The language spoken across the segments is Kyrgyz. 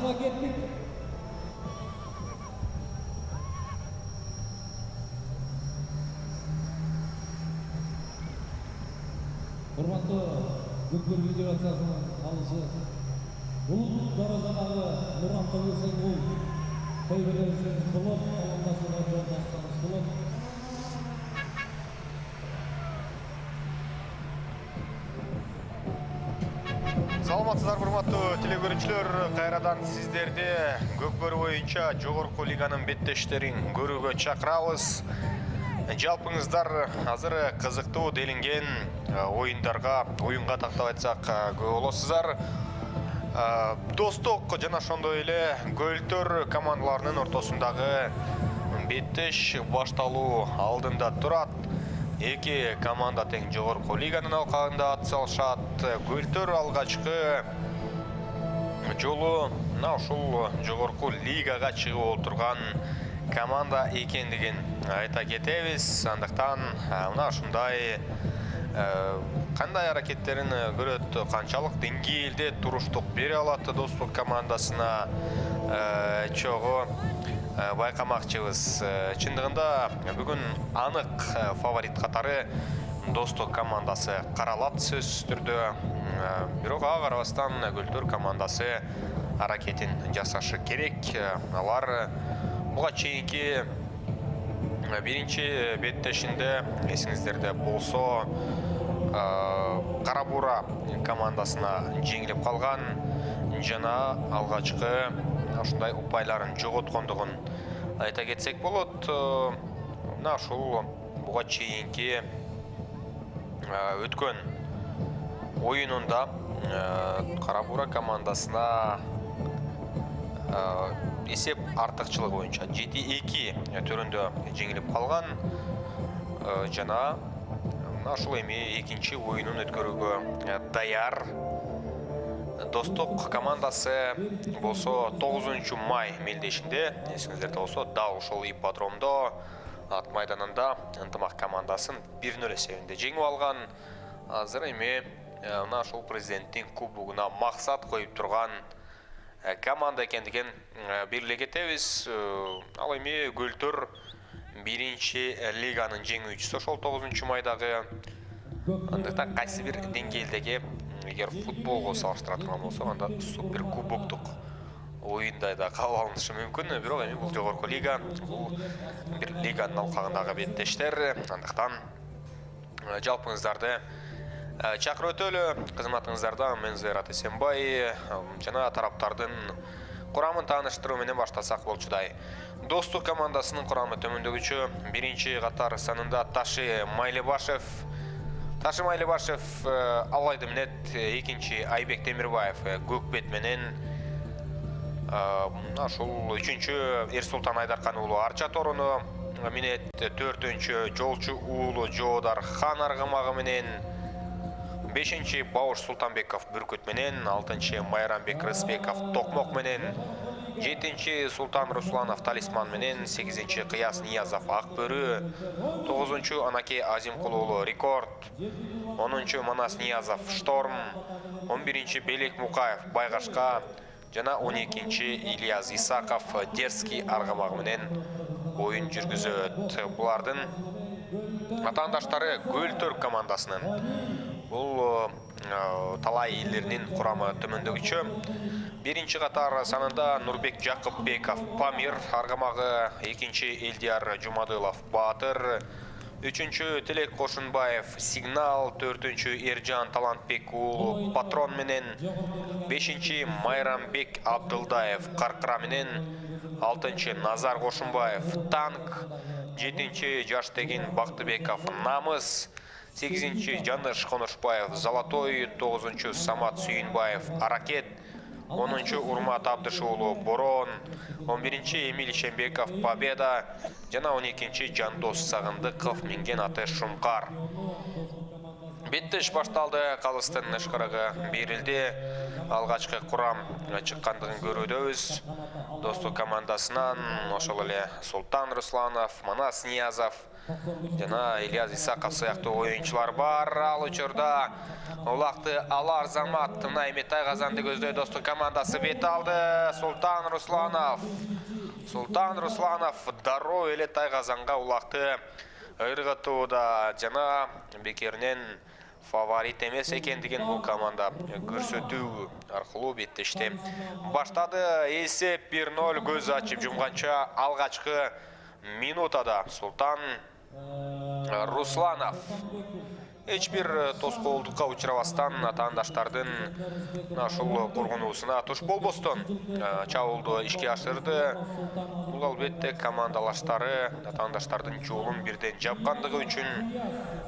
Башына кеттик. Урматтуу Көкбөр федерациясынын алышы Улут даражадагы Нуран Тобусенгул көйгөйлөрүбүз болот, колдошууга жолдошторубуз болот. Саламатсыздар урматтуу телекөрүүчүлөр, кайрадан сиздерди Көкбөр боюнча жогорку лиганын беттештерин көрүүгө чакырабыз. Жалпыңыздар азыр кызыктуу делинген оюнга тактап айтсак көп болосуздар. Достук жана ошондой эле Көлтөр командаларынын ортосундагы беттеш башталуу алдында турат. Эки команда тең жогорку лиганын алкагында ат салышат. Көлтөр алгачкы жолу ушул жогорку лигага чыгып отурган команда экендигин айта кетебиз. Андыктан мына ушундай кандай аракеттерин көрөт, канчалык деңгээлде туруштук бере алат Достук командасына чогуу байкамакчыбыз. Чындыгында бүгүн анык фаворит катары Достук командасы каралат сөзсүз түрдө. Бирок ага карабастан Көлтөр командасы аракетин жасашы керек. Алар буга чейинки биринчи беттешинде эсиңиздерде болсо Кара Бура командасына жеңилип калган жана алгачкы ушундай упайларын жоготкондугун айта кетсек болот. Мына ушул буга чейинки өткөн оюнунда Кара Бура командасына эсеп артыкчылыгы боюнча 7-2 түрүндө жеңилип калган жана ушул эми экинчи оюнун өткөрүүгө даяр. Достук командасы болсо 9 май мелдешинде, эсиңиздерде болсо, дал ошол ипподромдо ат майданында ынтымак командасын 1-0 эсебинде жеңип алган. Азыр эми мына ушул президенттин кубогуна максат коюп турган команда экендигин бирлей кетебиз. Ал эми Көлтөр биринчи лиганын жеңүүчүсү ошол 9 майдагы. Андыктан кайсы бир деңгээлдеги эгер футболго салыштыра турган болсок, анда супер кубоктук оюндай да кабыл алынышы мүмкүн. Бирок эми бул жогорку лига, бул бир лиганын алкагындагы беттештер. Андыктан жалпыңыздарды чакырып өтөлү. Кызматыңыздарда мен Зайрат Эсенбай жана тараптардын курамын тааныштыруу менен баштасак болчудай. Достук командасынын курамы төмөндөгүчө: биринчи катар санында Ташы Майлыбашев, Алайды Минет, экинчи Айбек Темирбаев көк бет менен, ушул үчүнчү Эрсултан Айдаркан уулу Арча Торуну Минет, төртүнчү Жолчу уулу Жоодар Хан аргымагы менен, бешинчи Бауш Султанбеков Бүркүт менен, алтынчы Майрамбек Рыспеков Токмок менен, жетинчи Султан Русланов Талисман менен, сегизинчи Кыяс Ниязов Акбөрү, тогузунчу Анаке Азимкул уулу Рекорд, 10-чу Манас Ниязов Шторм, 11-чи Белек Мукаев Байгашка жана 12-чи Ильяс Исаков Дерский аргымагы менен оюн жүргүзөт. Булардын атаандаштары Көлтөр командасынын. Бул талай элдеринин курамы төмөндөгүчө: биринчи катар санында Нурбек Жакыпбеков Памир аргымагы, экинчи Элдияр Жумадылов Баатыр, үчүнчү Телек Кошунбаев Сигнал, төртүнчү Эржан Талантбек уулу Патрон менен, бешинчи Майрамбек Абдылдаев Каркыра менен, алтынчы Назар Кошунбаев Танк, жетинчи Жаштегин Бактыбеков Намыс, 8-чи Жаныш Конушбаев Золотой, 9-чу Самат Сүйүнбаев Аракет, 10-чу Урмат Абдышуулу Борон, 11-чи Эмиль Шембеков Победа жана 12-чи Жандос Сагындыков Минген аты Шумкар. Беттеш башталды, Калыстын ышкырыгы берилди. Алгачкы курам чыккандыгын көрүүдөбүз. Достук командасынан ошол эле Султан Русланов, Манас Ниязов жана Ильяс Исаков сыяктуу оюнчулар бар. Ал учурда улакты Алар Замат мына эми Тайгазанды көздөй достук командасы бет алды. Султан Русланов дароо эле Тайгазанга улакты ыргытууда жана бекеринен фаворит эмес экендигин бул команда көрсөтүү аркылуу беттешти. Баштады эсеп 1-0 көз ачып жумганча алгачкы минутада Султан Русланов эч бир тоскоолдукка учурабастан атаандаштардын ушул коргонуусуна туш болбостон чабуулду ишке ашырды. Бул албетте командалаштары атаандаштардын жолун бирден жапкандыгы үчүн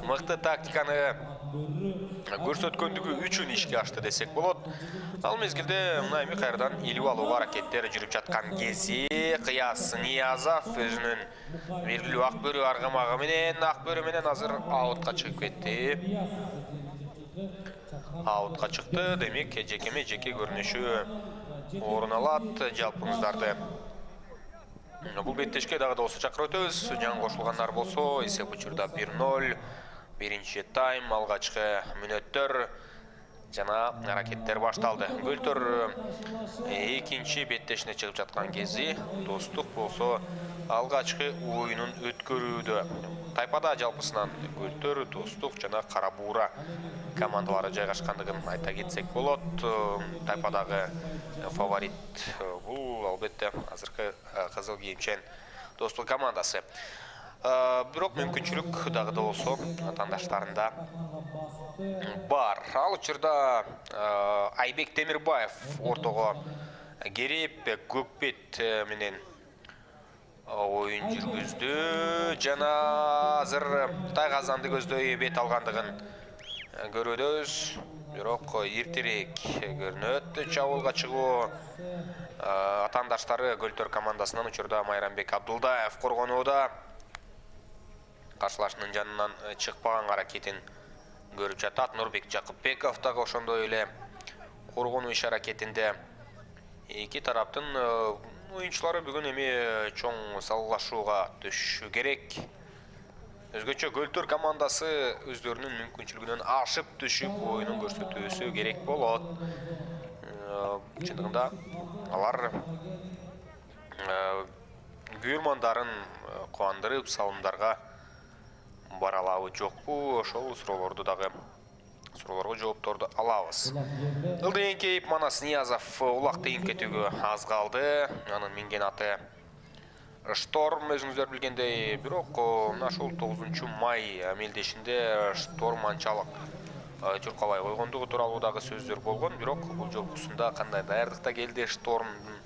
мыкты тактиканы көрсөткөндүгү үчүн ишке ашты десек болот. Ал мезгилде мына эми кайрадан илип алуу аракеттери жүрүп жаткан кези Кыяс Ниязов өзүнүн белгилүү акбөрү аргамагы менен азыр аутка чыгып кетти. Аутка чыкты, демек жекеме жеке көрүнүшү орун алат. Жалпыңыздарды бул беттешке дагы да болсо чакырып өтөбүз. Жаңы кошулгандар болсо эсеп учурда 1-0. Биринчи тайм алгачкы мүнөттөр жана аракеттер башталды. Гөлтөр экинчи беттешине чыгып жаткан кези Достук болсо алгачкы оюнун өткөрүүдө. Тайпада жалпысынан Гөлтөр, Достук жана Кара Буура командалары жайгашкандыгын айта кетсек болот. Тайпадагы фаворит бул албетте азыркы кызыл кийимчен Достук командасы. Бирок мүмкүнчүлүк дагы да болсо атаандаштарында бар. Ал учурда Айбек Темирбаев ортого кереп Көкбет менен оюн жүргүздү жана азыр Тайгазанды көздөй бет алгандыгын көрөбүз. Бирок эртерээк көрүнөт чабуулга чыгуу. Атаандаштары Гөлтөр командасынан учурда Майрамбек Абдулдаев коргонууда. Каршылашынын жанынан чыкпаган аракетин көрүп жатат. Нурбек Жакыпбеков дагы ошондой эле коргонуу иш аракетинде. Эки тараптын оюнчулары бүгүн эми чоң салгылашууга түшүшү керек. Өзгөчө Гөлтөр командасы өздөрүнүн мүмкүнчүлүгүнөн ашып түшүп оюнун көрсөтүүсү керек болот. Чындыгында алар көрөрмандарын кубандырып салымдарга баралабы жокпу, ошол суроолорго жоопторду алабыз. Ылдый эңкейип Манас Ниязов улакты эңип кетүүгө аз калды. Анын минген аты Шторм, өзүңүздөр билгендей, бирок ошол 9 май мелдешинде Шторм анчалык чуркабай койгондугу тууралуу дагы сөздөр болгон, бирок бул жолкусунда кандай даярдыкта келди Штормдун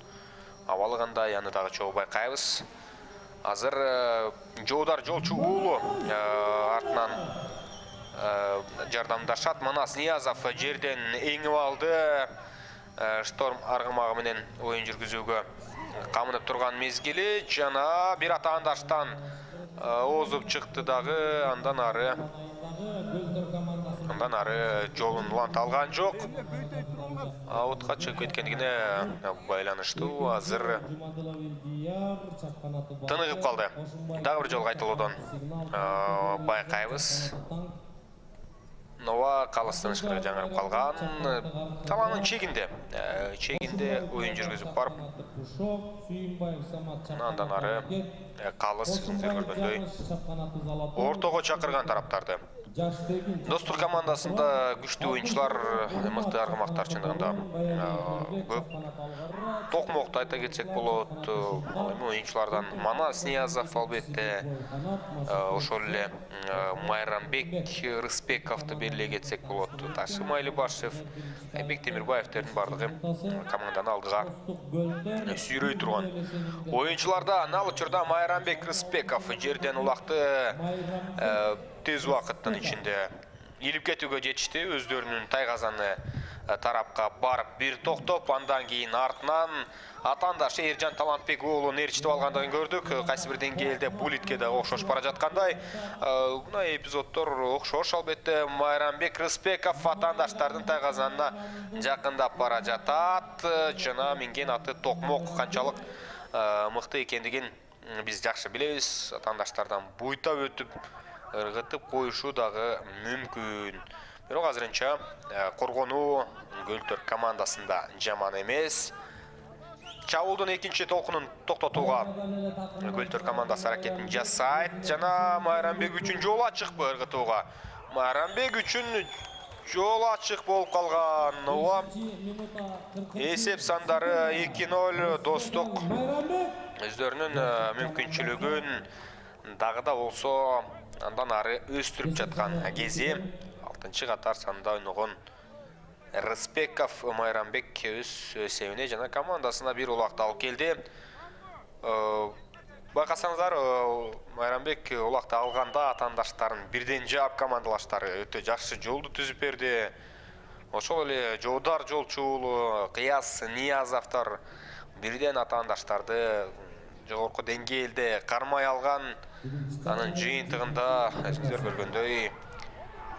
абалы кандай, аны дагы чогуу байкайбыз. Азыр Жоодар жолчу уулу артынан жардамдашат. Манас Ниязов жерден эңип алды. Шторм аргымагы менен оюн жүргүзүүгө камынып турган мезгили жана бир атаандаштан озуп чыкты дагы. Андан ары жолун уланта алган жок. Аутка чыгып кеткендигине байланыштуу азыр тыныгып калды. Дагы бир жолу кайталоодон байкайбыз. Нова Калыстын ышкырыгы жаңырып калган. Талаанын чегинде оюн жүргүзүп барып, андан ары Калыс өзүңүздөр көргөндөй ортого чакырган тараптарды. Достук командасында күчтүү оюнчулар, мыкты аргымактар чындыгында көп. Токмокто айта кетсек болот. Оюнчулардан Манас Ниязов албетте, ошол эле Майрамбек Рысбековду белгилей кетсек болот. Ташим Айлыбашев, Айбек Темирбаевдердин бардыгы команданы алдыга сүйрөй турган оюнчулардан. Ал учурда Майрамбек Рысбеков жерден улакты тез убакыттын ичинде илип кетүүгө жетишти. Өздөрүнүн Тайгазаны тарапка барып бир токтоп, андан кийин артынан атаандаш Эржан Талантбек уулун ээрчитип алгандыгын көрдүк. Кайсы бир деңгээлде Булитке да окшош бара жаткандай. Мына эпизоддор окшош албетте. Майрамбек Рыспеков атаандаштардын тайгазанына жакындап бара жатат. Жана минген аты токмок канчалык мыкты экендигин биз жакшы билебиз. Атаандаштардан буйтап өтүп, ыргытып коюшу дагы мүмкүн. Бирок азырынча коргонуу Көлтөр командасында жаман эмес. Чабуулдун экинчи толкунун токтотууга Көлтөр командасы аракетин жасайт. Жана Майрамбек үчүн жол ачыкпы ыргытууга? Майрамбек үчүн жол ачык болуп калган. Эсеп сандары 2-0. Достук өздөрүнүн мүмкүнчүлүгүн дагы да болсо андан ары өстүрүп жаткан кези. 6-катар санда ойногон Рыспеков Майрамбек өз эсебине жана командасына бир улакты алып келди. Байкасаңыздар, Майрамбек улакты алганда атаандаштарын бирден жаап командалаштары өтө жакшы жолду түзүп берди. Ошол эле Жоодар Жолчу уулу, Кыяз Ниязовдор бирден атаандаштарды жогорку деңгээлде кармай алган. Анын жыйынтыгында сиздер көргөндөй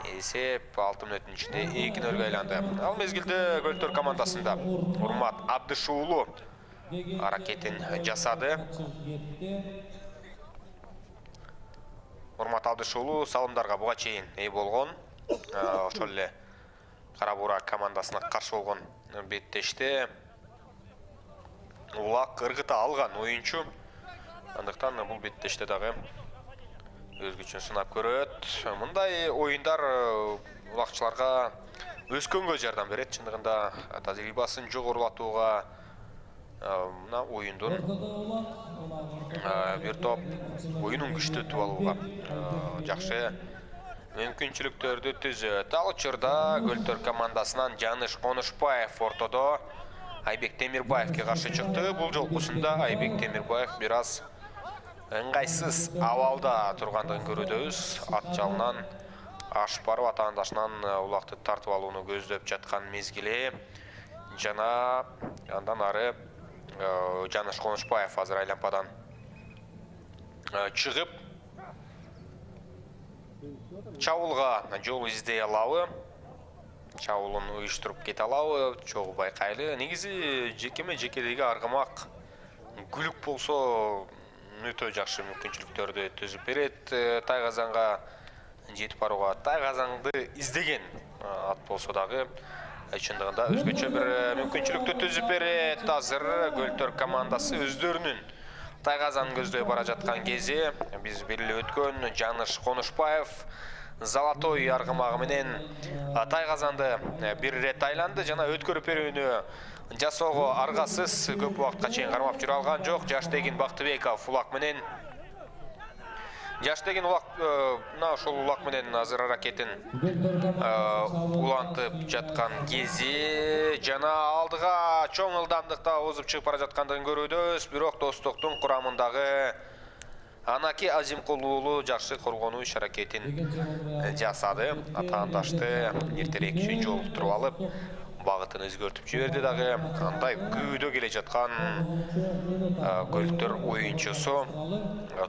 эсеп 6 мүнөттүн ичинде 2-0 айланды. Ал мезгилде Көлтөр командасында Урмат Абдышуулу аракетин жасады. Урмат Абдышуулу салымдарга буга чейин ээ болгон. Ошол эле Кара Бура командасына каршы болгон беттеште улак ыргыта алган оюнчу. Андыктан бул беттеште дагы өз күчүн сынап көрөт. Мындай оюндар улакчыларга өскөнгө жардам берет. Чындыгында тажрыйбасын жогорулатууга мына оюндун бир топ оюнун күчтөтүп алууга жакшы мүмкүнчүлүктөрдү түзөт. Ал учурда Көлтөр командасынан Жаныш Конушбаев ортодо Айбек Темирбаевке каршы чыкты. Бул жолкусунда Айбек Темирбаев бир аз ыңгайсыз абалда тургандыгын көрөдөбүз. Ат жалынан ашып барып атаандашынан улакты тартып алууну көздөп жаткан мезгили. Жана андан ары Жаныш Конушбаев азыр айлампадан чыгып чабуулга жол издей алабы? Чабуулун уюштуруп кете алабы? Чогуу байкайлы. Негизи жекеме-жекедеги аргымак күлүк болсо өтө жакшы мүмкүнчүлүктөрдү түзүп берет. Тайгазанга жетип барууга Тайгазанды издеген ат болсо дагы чындыгында өзгөчө бир мүмкүнчүлүктү түзүп берет. Азыр Көлтөр командасы өздөрүнүн Тайгазанын көздөй бара жаткан кези. Биз белгилеп өткөн Жаныш Конушбаев Золотой аргымагы менен Тайгазанды бир ирет айланды жана өткөрүп берүүнү жасоого аргасыз көп убакытка чейин кармап жүрө алган жок. Жаштегин Бактыбеков улак менен мына ошол улак менен азыр аракетин улантып жаткан кези жана алдыга чоң ылдамдыкта озуп чыгып бара жаткандыгын көрөбүз. Бирок Достоктун курамындагы Анаки Азимкулуу уулу жакшы коргонуу иш аракетин жасады. Атаандашты эртерээк жолуктуруп алып, багытын өзгөртүп жиберди дагы. Андай күйдө келе жаткан Көлтөр оюнчусу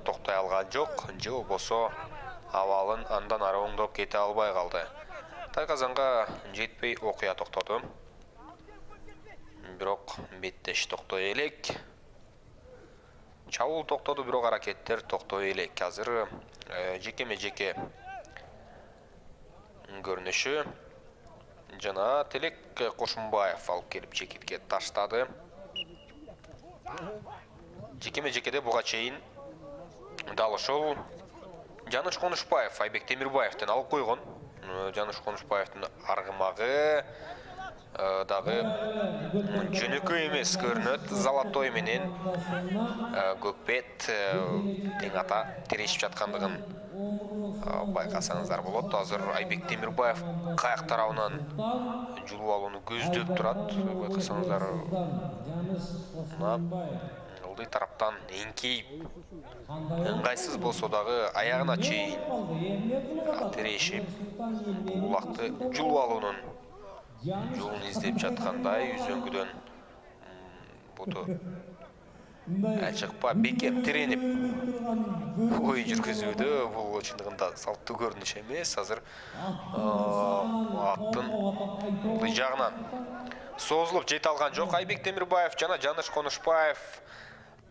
токтой алган жок. Же болбосо абалын андан ары оңдоп кете албай калды. Тайгазанга жетпей окуя токтоду. Бирок беттеш токтой элек. Чабуул токтоду, бирок аракеттер токтой элек. Азыр жекеме-жеке көрүнүшү жана Телек Кошумбаев алып келип чекитке таштады. Жекеме-жекеде буга чейин дал ошол Жаныш Конушбаев Айбек Темирбаевден алып койгон. Жаныш Конушбаевдин аргымагы дагы жөнөкөй эмес көрүнөт. Золотой менен Көкбет тең ата тирешип жаткандыгын байкасаңыздар болот. Азыр Айбек Темирбаев каяк тарабынан жулуп алууну көздөп турат. Байкасаңыздар ылдый тараптан эңкейип ыңгайсыз болсо дагы аягына чейин тирешип улакты жулуп алуунун жолун издеп жаткандай үзөңгүдөн буту ачыкпа бекем тиренип оюн жүргүзүүдө бул чындыгында салттуу көрүнүш эмес. Азыр аттын ылдый жагынан созулуп жете алган жок Айбек Темирбаев жана Жаныш Конушбаев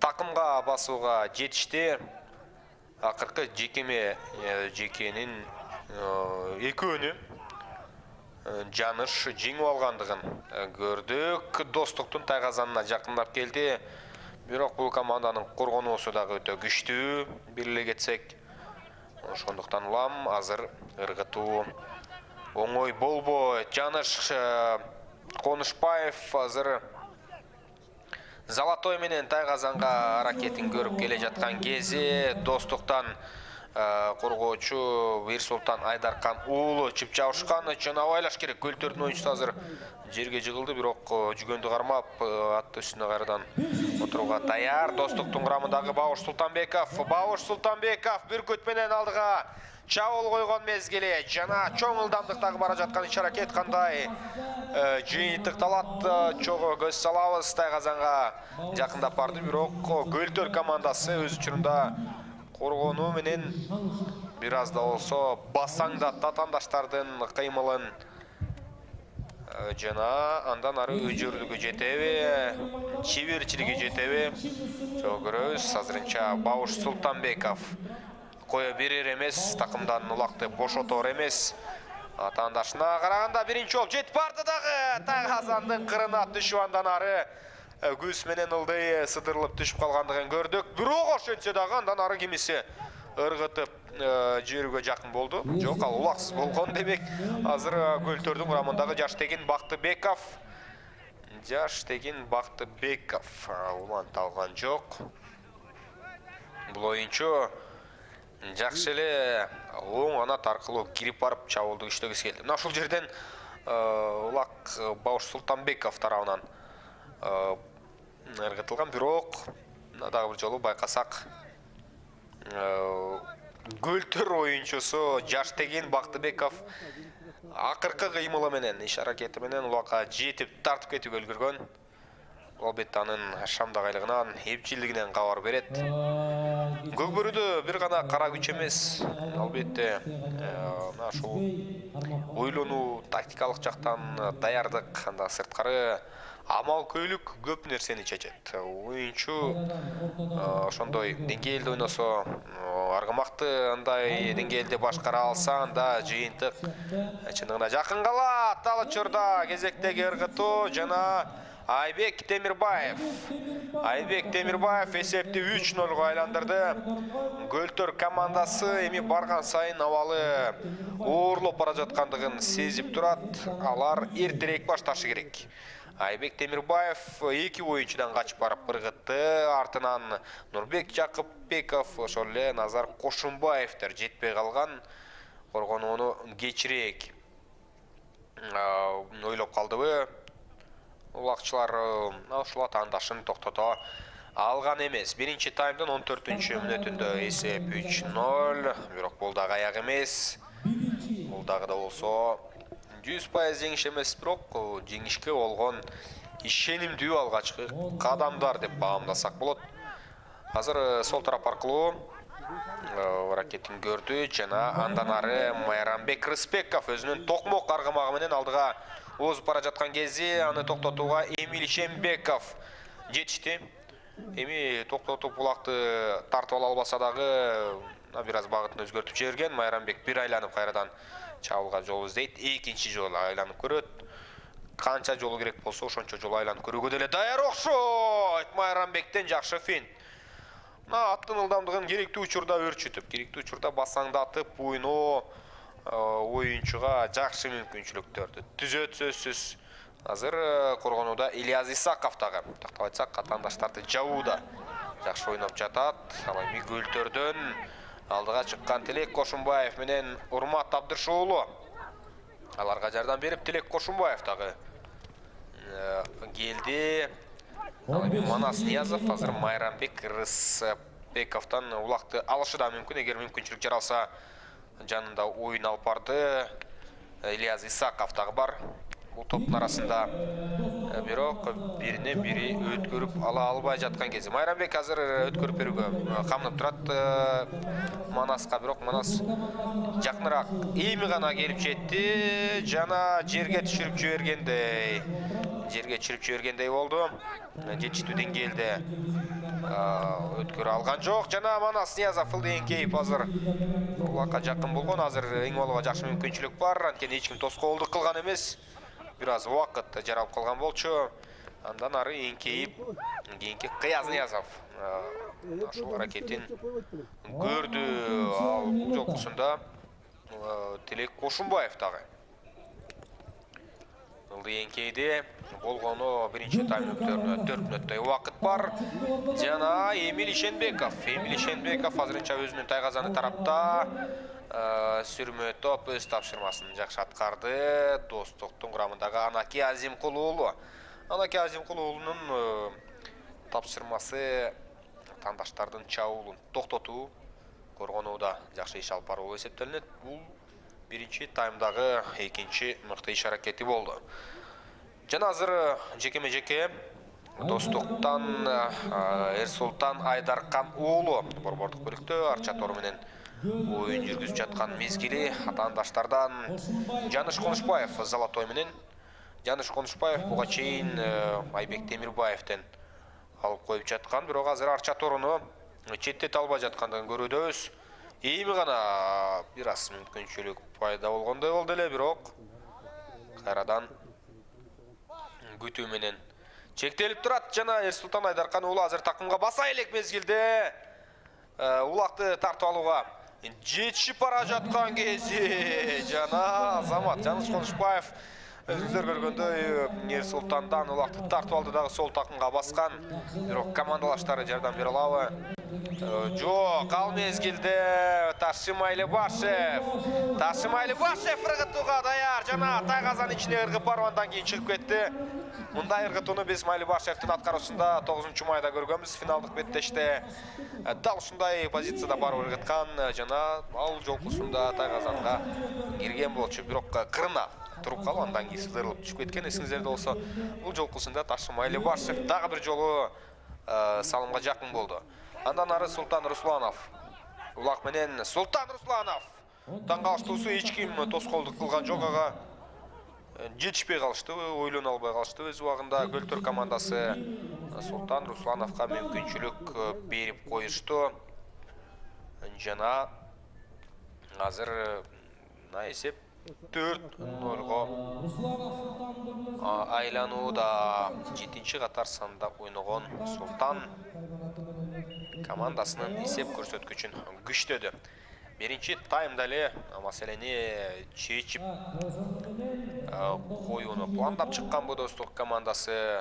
такымга басууга жетишти. Акыркы жекенин экөөнү Жаныш жеңип алгандыгын көрдүк. Достуктун тайгазанына жакындап келди. Бирок бул команданын коргонуусу дагы өтө күчтүү. Бир эле кетсек, ошондуктан улам азыр ыргытуу оңой болбойт. Жаныш Конушбаев азыр Золотой менен тайгазанга аракетин көрүп келе жаткан кези Достуктан коргоочу Бирсултан Айдаркан уулу чип жабышкан үчүн абайлаш керек. Көлтөрдүн оюнчусу азыр жерге жыгылды, бирок жүгөндү кармап ат үстүнө кайрадан отурууга даяр. Достуктун курамындагы Бабуш Султанбеков бүркүт менен алдыга чабуул койгон мезгили жана чоң ылдамдыктагы бара жаткан иш-аракет кандай жыйынтыкталат, чогуу көз салабыз. Тайгазанга жакындап барды, бирок Көлтөр командасы өз учурунда коргонуу менен бир аз да болсо басаңдат атаандаштардын кыймылын жана андан ары өжөрлүгү жетеби, чеберчилиги жетеби жок көрөбүз. Азырынча Бабуш Султанбеков кое берер эмес, такымдан улакты бошотор эмес. Атаандашына караганда биринчи болуп жетип барды дагы. Тайгазандын кырына түшүп андан ары күз менен ылдый сыдырылып түшүп калгандыгын көрдүк. Бирок ошентсе дагы андан ары кимиси ыргытып жиберүүгө жакын болду. Жок, ал улаксыз болгон демек. Азыр Көлтөрдүн курамындагы Жаштегин Бактыбеков улант алган жок. Бул оюнчу жакшы эле оң канат аркылуу кирип барып чабуулду күчтөгүсү келди. Мына ушул жерден улак Бабуш Султанбеков тарабынан ыргытылган, бирок дагы бир жолу байкасак Көлтөр оюнчусу Жаштегин Бактыбеков акыркы кыймылы менен, иш-аракети менен улакка жетип тартып кетүүгө үлгүргөн. Албетте анын шамдагайлыгынан, эпчилдигинен кабар берет. Көкбөрүдө бир гана кара күч эмес, албетте мына ушул ойлонуу, тактикалык жактан даярдык, анда сырткары амал көйлүк көп нерсени чечет. Оюнчу ошондой деңгээлде ойносо, аргымакты андай деңгээлде башкара алса, анда жыйынтык чындыгына жакын калат. Ал учурда кезектеги ыргытуу жана Айбек Темирбаев эсепти 3-0 айландырды. Көлтөр командасы эми барган сайын абалы оорлоп бара жаткандыгын сезип турат. Алар эртерээк башташы керек. Айбек Темирбаев эки оюнчудан качып барып ыргытты. Артынан Нурбек Жакыпбеков, ошол эле Назар Кошумбаевдер жетпей калган. Коргонууну кечирээк ойлоп калдыбы? Улакчылар ушул атаандашын токтото алган эмес. Биринчи таймдын 14-мүнөтүндө эсеп 3-0, бирок бул дагы аяк эмес. Бул дагы да болсо 100% жеңиш эмес, бирок жеңишке болгон ишенимдүү алгачкы кадамдар деп баамдасак болот. Азыр сол тарап аркылуу аракетин көрдү жана андан ары Майрамбек Рыспеков өзүнүн токмок аргымагы менен алдыга озуп бара жаткан кези аны токтотууга Эмиль Шембеков жетишти. Эми токтотуп булакты тартып ала албаса дагы бир аз багытын өзгөртүп жиберген. Майрамбек бир айланып кайрадан чабуулга жол издейт. Экинчи жолу айланып көрөт. Канча жолу керек болсо ошончо жолу айланып көрүүгө деле даяр окшойт. Майрамбектен жакшы финт. Аттын ылдамдыгын керектүү учурда өрчүтүп, керектүү учурда басаңдатып ойноо оюнчуга жакшы мүмкүнчүлүктөрдү түзөт сөзсүз. Азыр коргонууда Ильяз Исаков дагы тактап айтсак атаандаштарды жабууда жакшы ойноп жатат. Ал эми Көлтөрдөн алдыга чыккан Тилек Кошумбаев менен Урмат Абдышуулу аларга жардам берип, Тилек Кошумбаев дагы келди. Манас Ниязов азыр Майрамбек Рыспековдон улакты алышы да мүмкүн, эгер мүмкүнчүлүк жаралса жанында ойын алып барды. Ильяз Исаков дагы бар. бул топтун арасында бирок бирине бири өткөрүп ала албай жаткан кезде Майрамбек азыр өткөрүп берүүгө камынып турат Манаска, бирок Манас жакыныраак эми гана келип жетти жана жерге түшүрүп жибергендей болду. Жетиштүү деңгээлде өткөрө алган жок жана Манас Ниязов эңкейип азыр улакка жакын болгон. Азыр эң болууга жакшы мүмкүнчүлүк бар. Анткени эч ким тоскоолдук кылган эмес. Бир аз убакыт жаралып калган болчу. Андан ары эңкейип кийинки Кыяз Ниязов ушул аракетин көрдү. Ал бул жолкусунда Тилек Кошумбаев дагы эңкейди. Болгону биринчи таймда 4 мүнөттөй убакыт бар. Жана Эмиль Ишенбеков азырынча өзүнүн тайгазаны тарапта сүрмө топ өз тапшырмасын жакшы аткарды. Достуктун курамындагы Анаки Азимкулуулу. Анаки Азимкулуулунун тапшырмасы тандаштардын чабуулун токтотуу, коргонууда жакшы иш алып баруу эсептелинет. Бул биринчи таймдагы экинчи мыкты иш аракети болду. Жана азыр жекеме-жеке Достуктан Эрсултан Айдаркан уулу борбордук бөлүктө Арча тору менен оюн жүргүзүп жаткан мезгили атаандаштардан Жаныш Конушбаев Золотой менен. Жаныш Конушбаев буга чейин Айбек Темирбаевден алып коюп жаткан, бирок азыр Арча торуну четтете албай жаткандыгын көрүүдөбүз. Эми гана бир аз мүмкүнчүлүк пайда болгондой болду эле, бирок кайрадан күтүү менен чектелип турат. Жана Эрсултан Айдаркан уулу азыр такымга баса элек мезгилде улакты тартып алууга жетишип бара жаткан кези жана Азамат Жаныш Конушбаев өзүңүздөр көргөндөй Эрсултандан улакты тартып алды дагы сол такымга баскан. Бирок командалаштары жардам бере алабы? Жок, ал мезгилде Ташим Айлыбашев ыргытууга даяр жана тайгазанын ичине ыргып барып андан кийин чыгып кетти. Мындай ыргытууну биз Майлыбашевдин аткаруусунда 9-майда көргөнбүз. Финалдык беттеште дал ушундай позицияда барып ыргыткан жана ал жолкусунда тайгазанга кирген болчу. Бирок кырына туруп калып андан кийин сыдырылып түшүп кеткен. Эсиңиздерде болсо, бул жолкусунда Ташим Айлыбашев дагы бир жолу салымга жакын болду. Андан ары Султан Русланов. Улак менен Султан Русланов. Таңкалыштуусу эч ким тоскоолдук кылган жок, ага жетишпей калышты, ойлоно албай калышты. Өз убагында Көлтөр командасы Султан Руслановго мүмкүнчүлүк берип коюшту. Жана азыр эсеп 4-0 айланууда. 7-катар санда ойногон Султан командасынын эсеп көрсөткүчүн күчтөдү. Биринчи таймда эле маселени чечип коюуну пландап чыккан бу Достук командасы.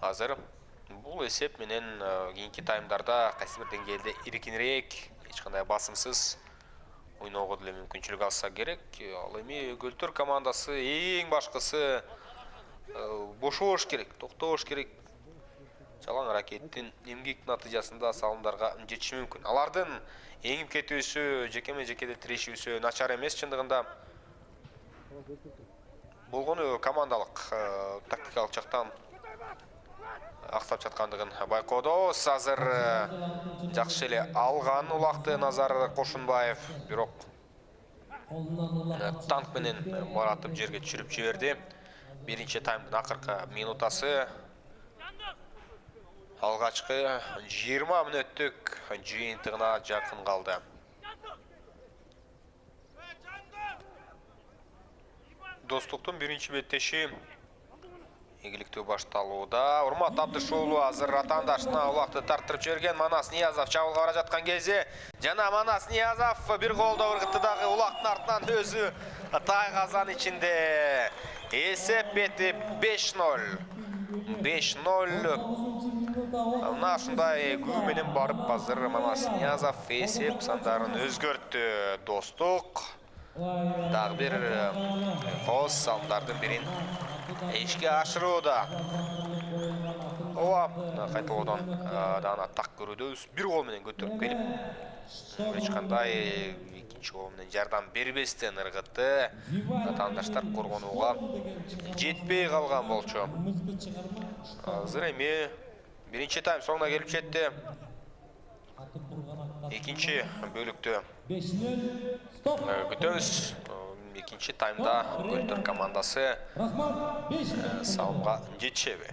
Азыр бул эсеп менен кийинки таймдарда кайсы бир деңгээлде эркинирээк, эч кандай басымсыз ойноого деле мүмкүнчүлүк алса керек. Ал эми Көлтөр командасы эң башкысы бошош керек, токтош керек. Жалаң аракеттин эмгек натыйжасында салымдарга жетиши мүмкүн. Алардын эңип кетүүсү, жекеме-жекеде тирешүүсү начар эмес чындыгында. Болгону командалык, тактикалык жактан аксап жаткандыгын байкоодобуз. Азыр жакшы эле алган улакты Назар Кошунбаев, бирок танк менен баратып жерге түшүрүп жиберди. Биринчи таймдын акыркы минутасы. Алгачкы 20 мүнөттүк жыйынтыгына жакын калды. Достуктун биринчи беттеши ийгиликтүү башталууда. Урмат Абдышуулу азыр атаандашына улакты тарттырып жиберген. Манас Ниязов чабуулга бара жаткан кезде жана Манас Ниязов бир голдо ыргытты дагы улактын артынан өзү тайгазан ичинде. Эсеп бетип 5-0. Мына ушундай күү менен барып азыр Манас Ниязов эсеп сандарын өзгөрттү. Достук дагы бир коз салымдардын бирин ишке ашырууда. Ооба, кайталоодон дагы так көрүүдөбүз. Бир гол менен көтөрүп келип эч кандай экинчи гол менен жардам бербестен ыргытты. Атаандаштар коргонууга жетпей калган болчу. Азыр эми биринчи тайм соңуна келип жетти. Экинчи бөлүктө күтөбүз. Экинчи таймда Көлтөр командасы салымга жетишеби?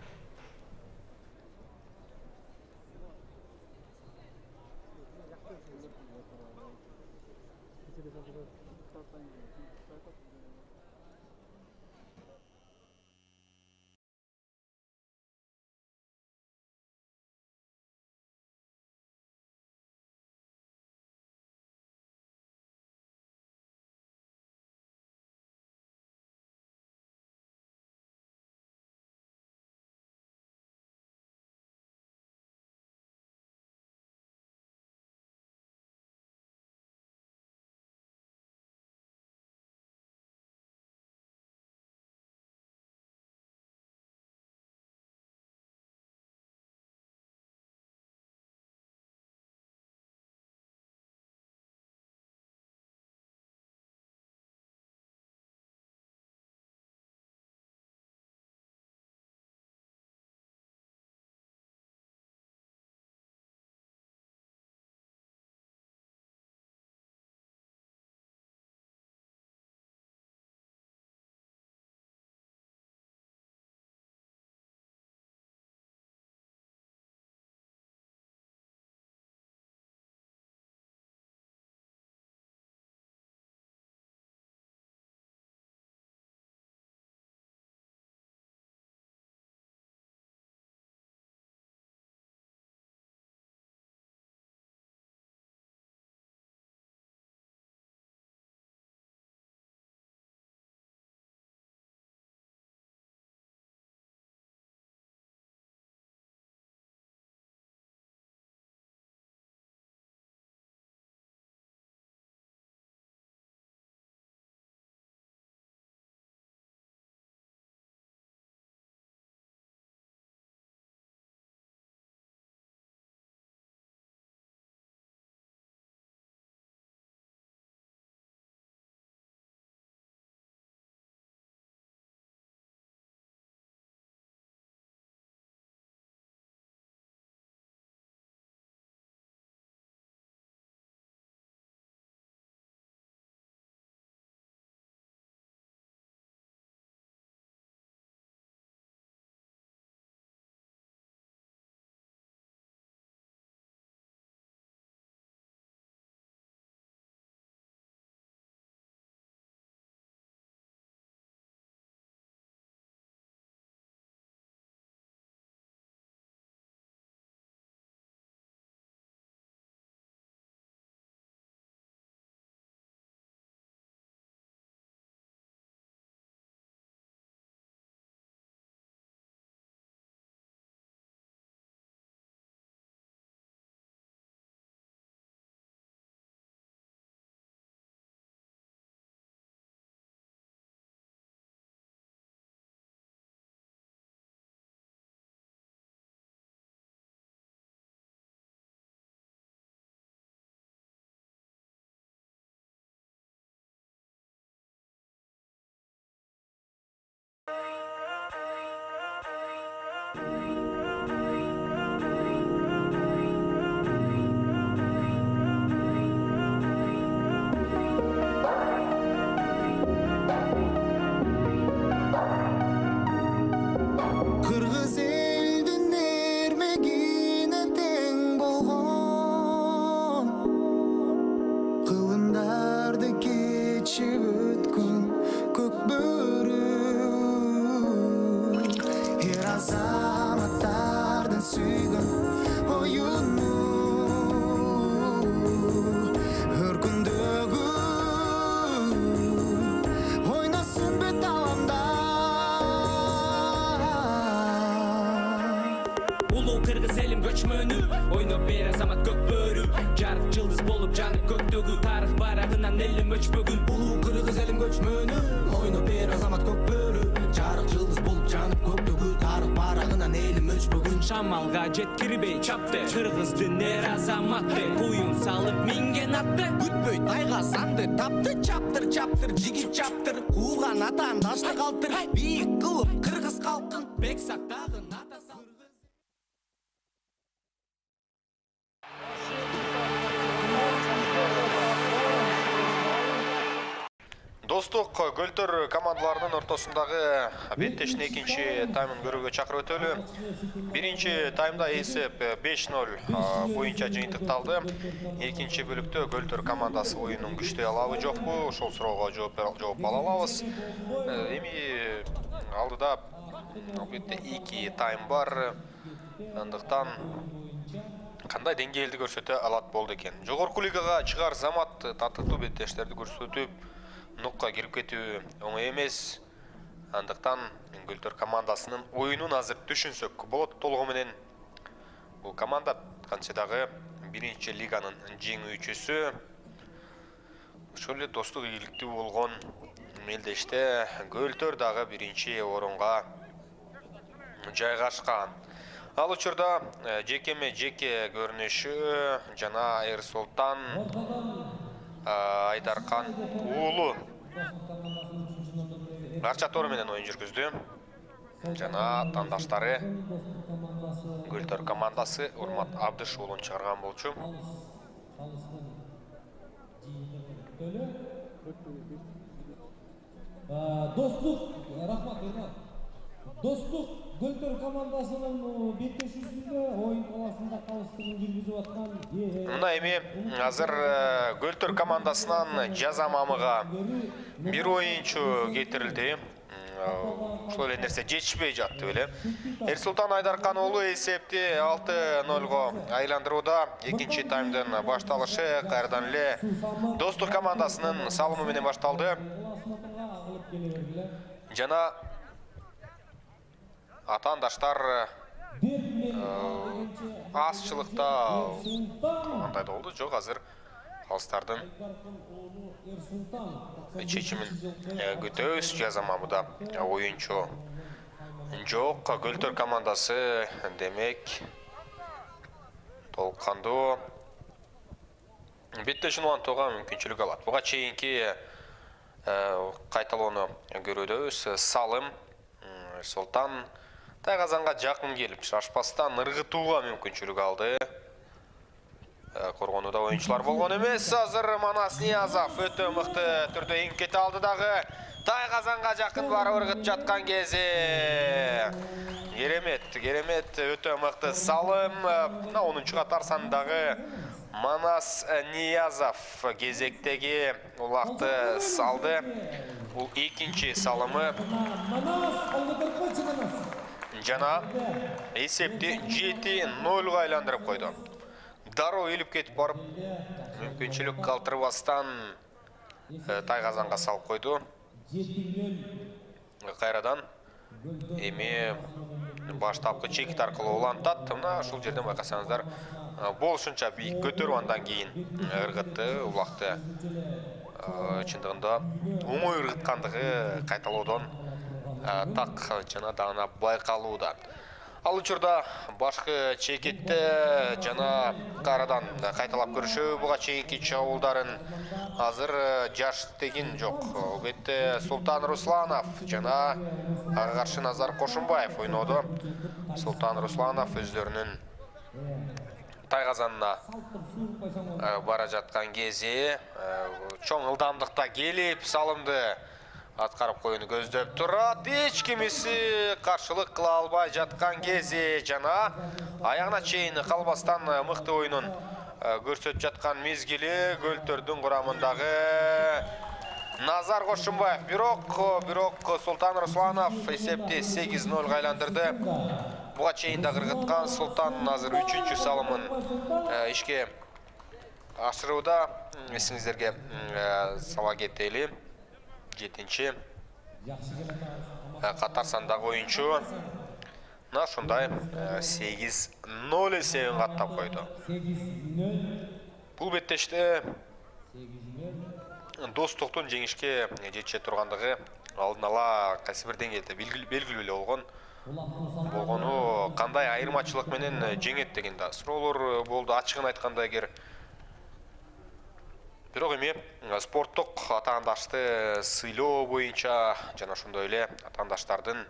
шамалга жеткирбей чапты кыргыздын эр азаматы куюн салып минген атты күтпөй тайгасаңды тапты чаптыр чаптыр жигит чаптыр кууган атан дашты калтыр бийик кылып кыргыз калкын бек сактагын ата Достук Көлтөр командаларынын ортосундагы беттештин экинчи таймын көрүүгө чакырып өтөлү. Биринчи таймда эсеп 5-0 боюнча жыйынтыкталды. Экинчи бөлүктө Көлтөр командасы оюнун күчтөй алабы жокпу? Ошол суроого жооп ала алабыз. Эми алдыда албетте 2 тайм бар. Андыктан кандай деңгээлди көрсөтө алат болду экен. Жогорку лигага чыгар замат татыктуу беттештерди көрсөтүп нукка кирип кетүү оңой эмес. Андыктан Көлтөр командасынын оюнун азыр түшүнсөк болот толугу менен. Бул команда кантсе дагы биринчи лиганын жеңүүчүсү. Ошол эле достук ийгиликтүү болгон мелдеште Көлтөр дагы биринчи орунга жайгашкан. Ал учурда жекеме жеке көрүнүшү жана Эрсултан Айдаркан уулу Акча Тору менен оюн жүргүздү. Жана тандаштары Көлтөр командасы Урмат Абдыш уулун чыгарган болчу. Достук, рахмат, Урмат. Достук Көлтөр командасынын беттешүүсүндө оюн талаасында калыстыгын жүргүзүп аткан. Мына эми азыр Көлтөр командасынан жаза мамыга бир оюнчу кетирилди. Ошол эле нерсе жетишпей жатты беле. Эрсултан Айдаркан уулу эсепти 6-0 айландырууда. Экинчи таймдын башталышы кайрадан эле Достук командасынын салымы менен башталды. Жана атаандаштар азчылыкта кандай болду? Жок, азыр алыстардын чечимин күтөбүз. Жаза мамыда оюнчу жок. Көлтөр командасы демек толккандуу беттешин улантууга мүмкүнчүлүк алат. Буга чейинки кайталоону көрүүдөбүз. Салым Султан Тайгазанга жакын келип, шашпастан ыргытууга мүмкүнчүлүк алды. Коргонууда оюнчулар болгон эмес. Азыр Манас Ниязов өтө мыкты түрдө эңип кете алды дагы. Тайгазанга жакын барып ыргытып жаткан кези. Керемет, өтө мыкты салым. 10-чу катар сандагы Манас Ниязов кезектеги улакты салды. Бул экинчи салымы. Жана эсепти 7-0 айландырып койду. Дароо илип кетип барып, мүмкүнчүлүк калтырбастан Тайгазанга салып койду. Кайрадан эми баштапкы чекит аркылуу улантат. Мына ушул жерден байкасаңыздар, болушунча бийик көтөрүп андан кийин ыргытты, улакты. Чындыгында оңой ыргыткандыгы кайталоодон так жана даана байкалууда. Ал учурда башкы чекитте жана кайрадан кайталап көрүшүү буга чейинки чабуулдарын азыр жаш деген жок. Албетте Султан Русланов жана ага каршы Назар Кошумбаев ойноодо. Султан Русланов өздөрүнүн Тайгазанына бара жаткан кези чоң ылдамдыкта келип салымды аткарып коюуну көздөп турат. Эч кимиси каршылык кыла албай жаткан кези жана аягына чейин калбастан мыкты оюнун көрсөтүп жаткан мезгили Көлтөрдүн курамындагы Назар Кошумбаев. Бирок Султан Русланов эсепти 8-0 айландырды. Буга чейин да ыргыткан Султан азыр 3-чү салымын ишке ашырууда. Эсиңиздерге сала кетели. 7-чи катар сандагы оюнчу. Мына ушундай 8-0 эсебин каттап койду. Бул беттеште Достуктун жеңишке жетише тургандыгы алдын ала кайсы бир деңгээлде белгилүү эле болгону кандай айырмачылык менен жеңет деген да суроолор болду. Ачыгын айтканда эгер бирок эми спорттук атаандашты сыйлоо боюнча жана ошондой эле атаандаштардын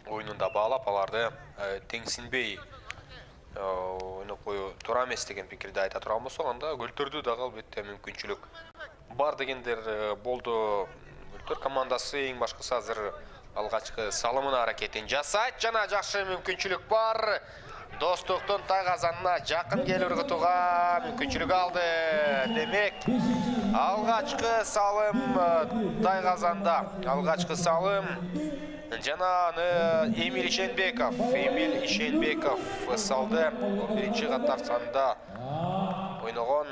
оюнунда баалап аларды теңсинбей ойноп коюу туура эмес деген пикирди айта турган болсок, анда Көлтөрдү дагы албетте мүмкүнчүлүк бар дегендер болду. Көлтөр командасы эң башкысы азыр алгачкы салымына аракетин жасайт жана жакшы мүмкүнчүлүк бар. Достуктун Тайгазанына жакын келип ыргытууга мүмкүнчүлүк алды. Демек, алгачкы салым Тайгазанда. Алгачкы салым жана Эмиль Ишенбеков салды. Биринчи катар санында ойногон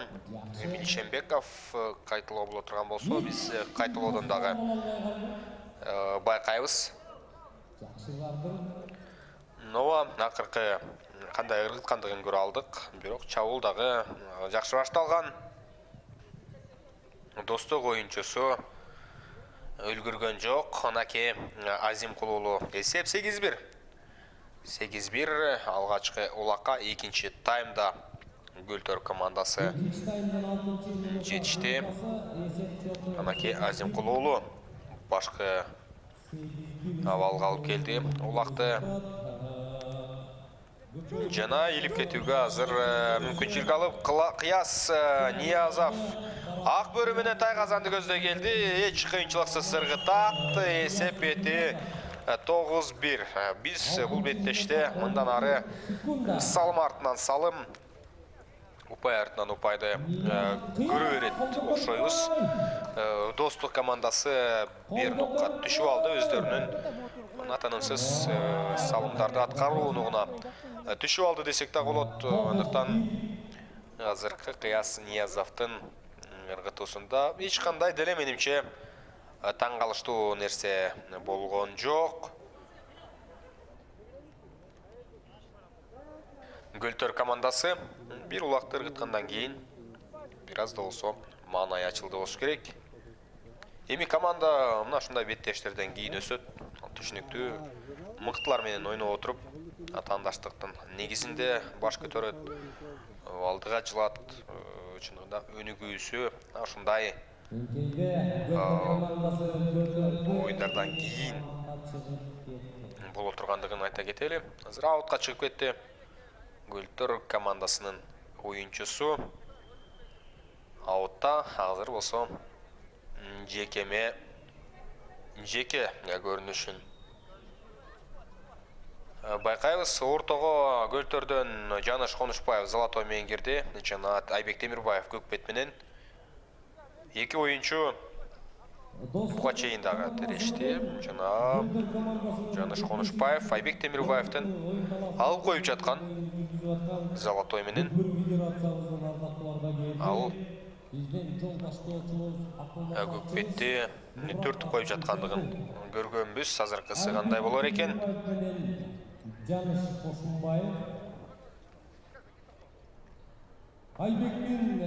Эмиль Ишенбеков кайталоо боло турган болсо, биз кайталоодон дагы байкайбыз. Нова акыркы кандай ыргыткандыгын көрө алдык, бирок чабуул дагы жакшы башталган. Достук оюнчусу үлгүргөн жок. Анаке Азимкулуулу эсеп 8-1. 8-1 алгачкы улакка экинчи таймда Көлтөр командасы жетишти. Анаке Азимкулуулу башкы абалга алып келди улакты. Жана илип кетүүгө азыр мүмкүнчүлүк алып Кыяс Ниязов ак бөрү менен Тайгазанды көздөй келди. Эч кыйынчылыксыз ыргытат. Эсеп бети 9-1. Биз бул беттеште мындан ары салым артынан салым, упай артынан упайды көрө берет окшойбуз. Достук командасы бир нокка түшүп алды, өздөрүнүн атанымсыз салымдарды аткарууна түшүп алды десек да болот. Андыктан азыркы Кыяс Ниязовдун ыргытуусунда эч кандай деле менимче таң калыштуу нерсе болгон жок. Көлтөр командасы бир улакты ыргыткандан кийин бир аз да болсо маанай ачылды болуш керек. Эми команда мына ушундай беттештерден кийин өсөт. Түшүнүктүү мыктылар менен ойноп отуруп, атаандаштыктын негизинде баш көтөрөт, алдыга жылат. Чындыгында өнүгүүсү ушундай оюндардан кийин боло тургандыгын айта кетели. Азыр аутка чыгып кетти Көлтөр командасынын оюнчусу. Аутта азыр болсо жеке көрүнүшүн байкайбыз. Ортого Көлтөрдөн Жаныш Конушбаев Золотой менен кирди жана Айбек Темирбаев Көкбет менен. Эки оюнчу буга чейин дагы терешти. Жана Жаныш Конушбаев Айбек Темирбаевден алып коюп жаткан Золотой менен. Ал Көкбетти төртүп коюп жаткандыгын көргөнбүз. Азыркысы кандай болор экен? Жаныш Кошунбаев Айбектин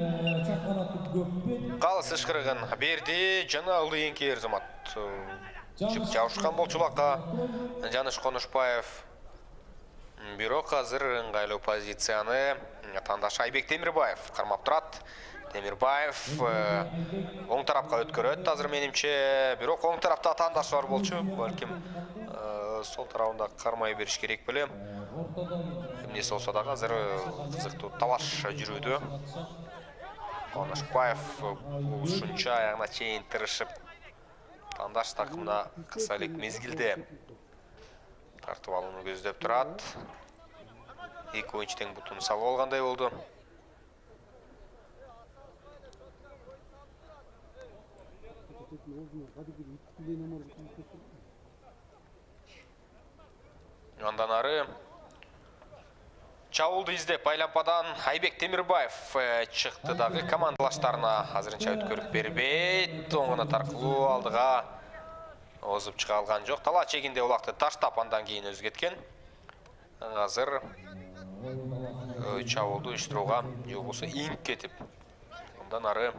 чаканаты Көкбет калыс ышкырыгын берди жана Ылыйенки Эрзамат чып жабышкан болчулакка Жаныш Конушбаев. Бирок азыр ыңгайлуу позицияны атаандаш Айбек Темирбаев кармап турат. Темирбаев оң тарапка өткөрөт азыр менимче, бирок оң тарапта атаандаш бар болчу. Балким сол тарабында кармай бериш керек беле. Эмнеси болсо дагы азыр кызыктуу талаш жүрүүдө. Конушбаев ушунча аягына чейин тырышып атаандаш такымына кыса элек мезгилде тартып алууну көздөп турат. Эки оюнчу тең бутун салып алгандай болду. Андан ары чабуулду издеп айлампадан Айбек Темирбаев чыкты дагы командалаштарына азырынча өткөрүп бербейт. Оңуна таркылуу алдыга озуп чыга алган жок. Тала чегинде улакты таштап андан кийин өзү кеткен. Азыр чабуулду уюштурууга же болбосо иңип кетип, андан ары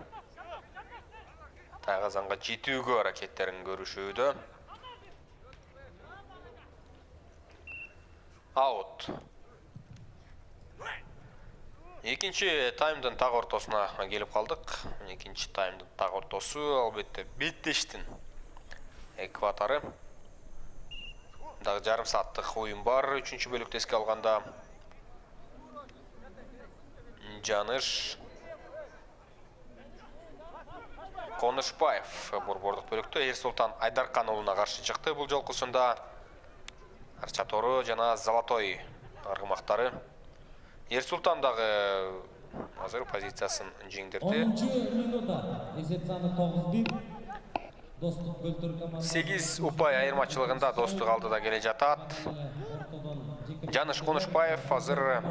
Тайгазанга жетүүгө аракеттерин көрүшүүдө. Аут. Экинчи таймдын так ортосуна келип калдык. Экинчи таймдын так ортосу албетте беттештин экватору. Дагы жарым сааттык оюн бар. Үчүнчү бөлүктө эске алганда Жаныш Конышбаев борбордук бөлүктө Эрсултан Айдаркан уулуна каршы чыкты. Бул жолкусунда Арчатору жана Золотой аргымактары. Эрсултан дагы азыр позициясын жеңдирди. 10-минутта эсеп саны 9-1. Достук Көлтөр командасы 8 упай айырмачылыгында Достук алдыда келе жатат. Жаныш Конышбаев азыр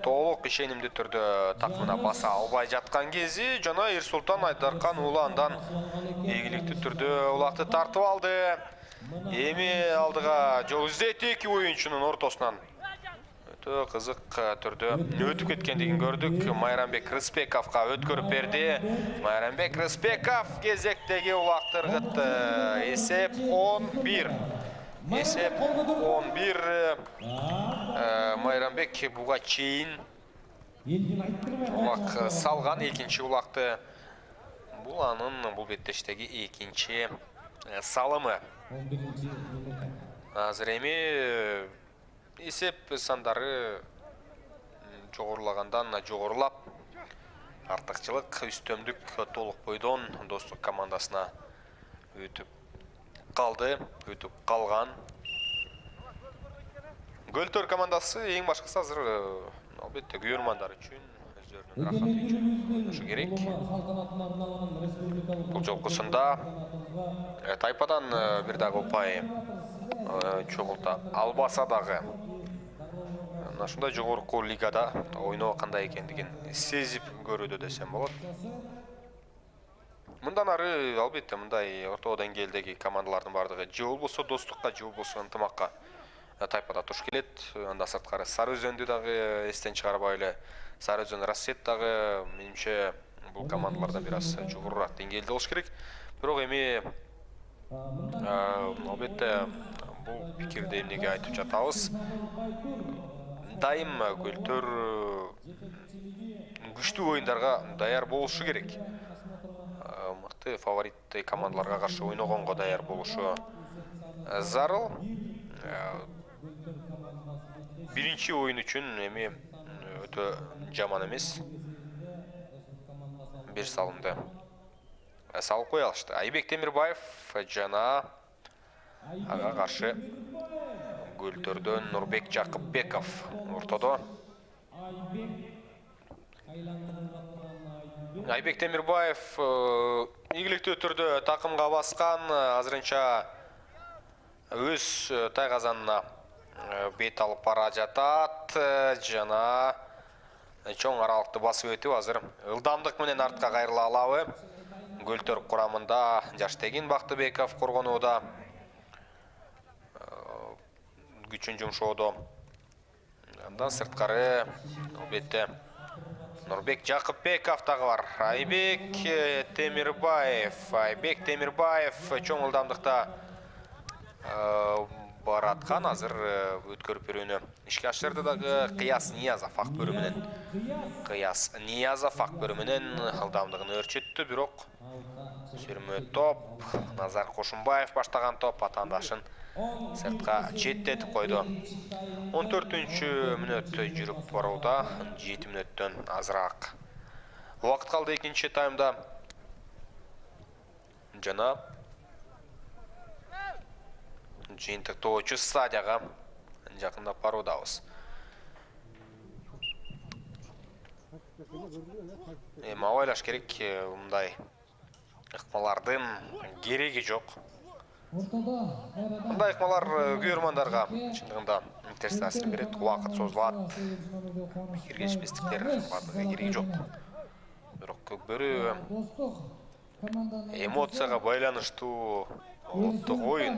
толук ишенимдүү түрдө такымына баса албай жаткан кези жана Эрсултан Айдаркан уулу андан ийгиликтүү түрдө улакты тартып алды. Эми алдыга жол издейт эки оюнчунун ортосунан. Өтө кызык түрдө өтүп кеткендигин көрдүк. Майрамбек Рыспековго өткөрүп берди. Майрамбек Рыспеков кезектеги улакты ыргытты. Эсеп 11. Эсеп 11. Майрамбек буга чейин улак салган экинчи улакты. Бул анын бул беттештеги экинчи салымы. 11-минутта. Азыр эми эсеп сандары жогорулагандан жогорулап артыкчылык үстөмдүк толук бойдон Достук командасына өтүп калган. Көлтөр командасы эң башкысы азыр албетте күйөрмандар үчүн өздөрүнүн рахатын ойношу керек. Бул жолкусунда Тайпадан бир дагы упай чогулта албаса дагы ушундай жогорку лигада ойноо кандай экендигин сезип көрүүдө десем болот. Мындан ары албетте мындай орто деңгээлдеги командалардын бардыгы же болбосо Достукка же болбосо ынтымакка Тайпада туш келет. Анда сырткары Сары Өзөндү дагы эстен чыгарбай эле Сары Өзөн Рассет дагы менимче бул командалардан бир аз жогорураак деңгээлде болуш керек. Бирок эми албетте бул пикирди эмнеге айтып жатабыз? Дайым Көлтөр күчтүү оюндарга даяр болушу керек. Мыкты фаворит командаларга каршы ойногонго даяр болушу зарыл. Биринчи оюн үчүн эми өтө жаман эмес. Бир салымды салып кое алышты. Айбек Темирбаев жана ага каршы Көлтөрдөн Нурбек Жакыпбеков ортодо. Айбек Темирбаев ийгиликтүү түрдө такымга баскан, азырынча өз Тайгазанына бет алып бара жатат жана чоң аралыкты басып өтүп азыр ылдамдык менен артка кайрыла алабы. Көлтөр курамында Жаштегин Бактыбеков коргонууда күчүн жумшоодо. Андан сырткары албетте Нурбек Жакыпбеков дагы бар. Айбек Темирбаев чоң ылдамдыкта бараткан, азыр өткөрүп берүүнү ишке ашырды дагы Кыяс Ниязов ак бөрү менен ылдамдыгын өрчөттү, бирок сүрмө топ Назар Кошумбаев баштаган топ атаандашын сыртка четтетип койду. 14-мүнөт жүрүп барууда, 7 мүнөттөн азыраак убакыт калды экинчи таймда. Жана жыйынтыктоочу стадияга жакындап баруудабыз. Эми абайлаш керек, мындай ыкмалардын кереги жок. Мындай ыкмалар күйөрмандарга чындыгында терс таасир берет, убакыт созулат, киргешпестиктер бардыгы кереги жок. Бирок көкбөрү эмоцияга байланыштуу олуттук оюн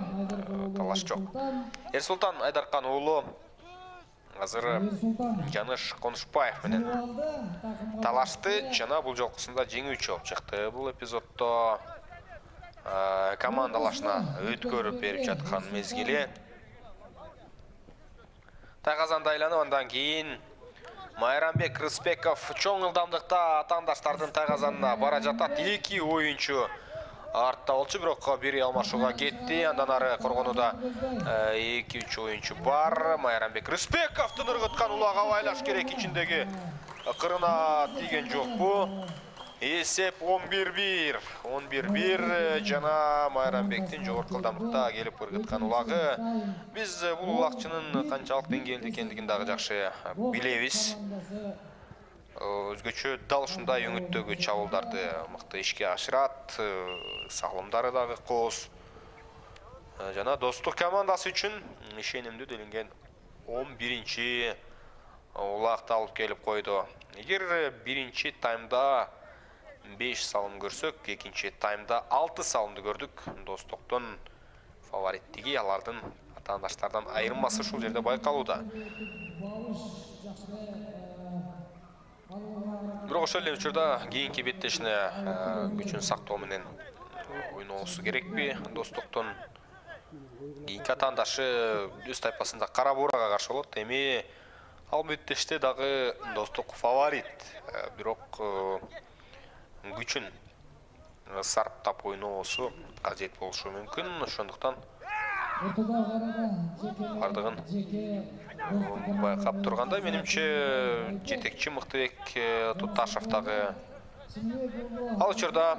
талаш жок. Эрсултан Айдаркан уулу азыр Жаныш Конушбаев менен талашты. Жана бул жолкусунда жеңүүчү болуп чыкты. Бул эпизоддо командалашына өткөрүп берип жаткан мезгили. Тайгазанды айланып, андан кийин Майрамбек Рыспеков чоң ылдамдыкта атаандаштардын Тайгазанына бара жатат. 2 оюнчу артта болчу, бирок бири алмашууга кетти. Андан ары коргонууда 2-3 оюнчу бар. Майрамбек Рысбековдун ыргыткан улагы абайлаш керек, ичиндеги кырына тийген жокпу. Эсеп 11-1. 11-1 жана Майрамбектин жогорку ылдамдыкта келип ыргыткан улагы. Биз бул улагчынын канчалык деңгээлде экендигин дагы жакшы билебиз. Өзгөчө дал ушундай өңүттөгү чабуулдарды мыкты ишке ашырат, салымдары дагы кооз. Жана Достук командасы үчүн ишенимдүү делинген 11-чи улагды алып келип койду. Эгер биринчи таймда 5 салым көрсөк, экинчи таймда 6 салымды көрдүк. Достуктун фавориттиги, алардын атаандаштардан айырмасы ушул жерде байкалууда. Бирок ошол эле учурда кийинки беттешине күчүн сактоо менен ойносу керекпи? Достуктун кийинки атаандашы өз тайпасында Кара Буурага каршы болот. Эми ал беттеште дагы Достук фаворит. Бирок күчүн сарптап ойносу кажет болушу мүмкүн. Ошондуктан бардыгын байкап турганда, менимче жетекчи Мыктыбек Туташев дагы ал учурда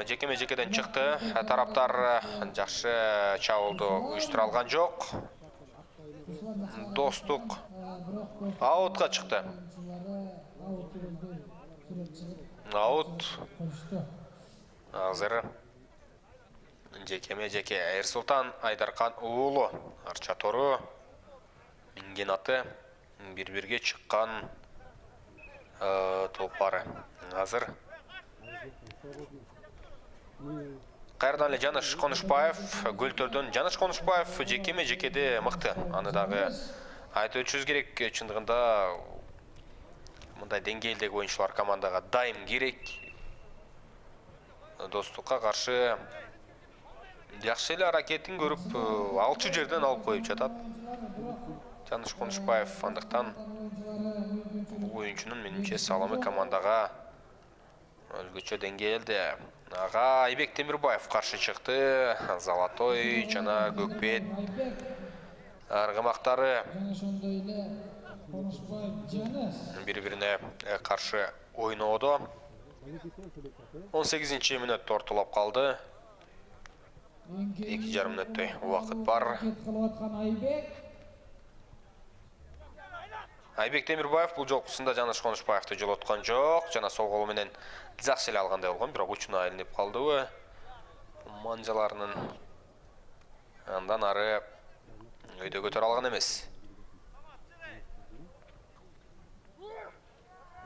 жекеме-жекеден чыкты. Тараптар жакшы чабуулду уюштура алган жок. Достук аутка чыкты. Аут. Азыр жекеме-жеке Эрсултан Айдаркан уулу Арча Тору минген аты бир-бирге чыккан толпары. Азыр кайрадан эле Жаныш Конушбаев Гөлтөрдөн. Жаныш Конушбаев жекеме-жекеде мыкты. Аны дагы айтып өтүшүбүз керек. Чындыгында мындай деңгээлдеги оюнчулар командага дайым керек. Достукка каршы жакшы эле аракетин көрүп, алчу жерден алып коюп жатат Жаныш Конушбаев. Андыктан бул оюнчунун менимче салымы командага өзгөчө деңгээлде. Ага Айбек Темирбаев каршы чыкты. Золотой жана Көкбет аргымактары бири-бирине каршы ойноодо. 18-чи мүнөттө ортолоп калды. 2,5 мүнөттөй убакыт бар. Айбек Темирбаев бул жолкусунда Жаныш Конушбаевди жолоткон жок. Жана сол колу менен жакшы эле алгандай болгон, бирок учуна илинип калдыбы манжаларынын. Андан ары өйдө көтөрө алган эмес.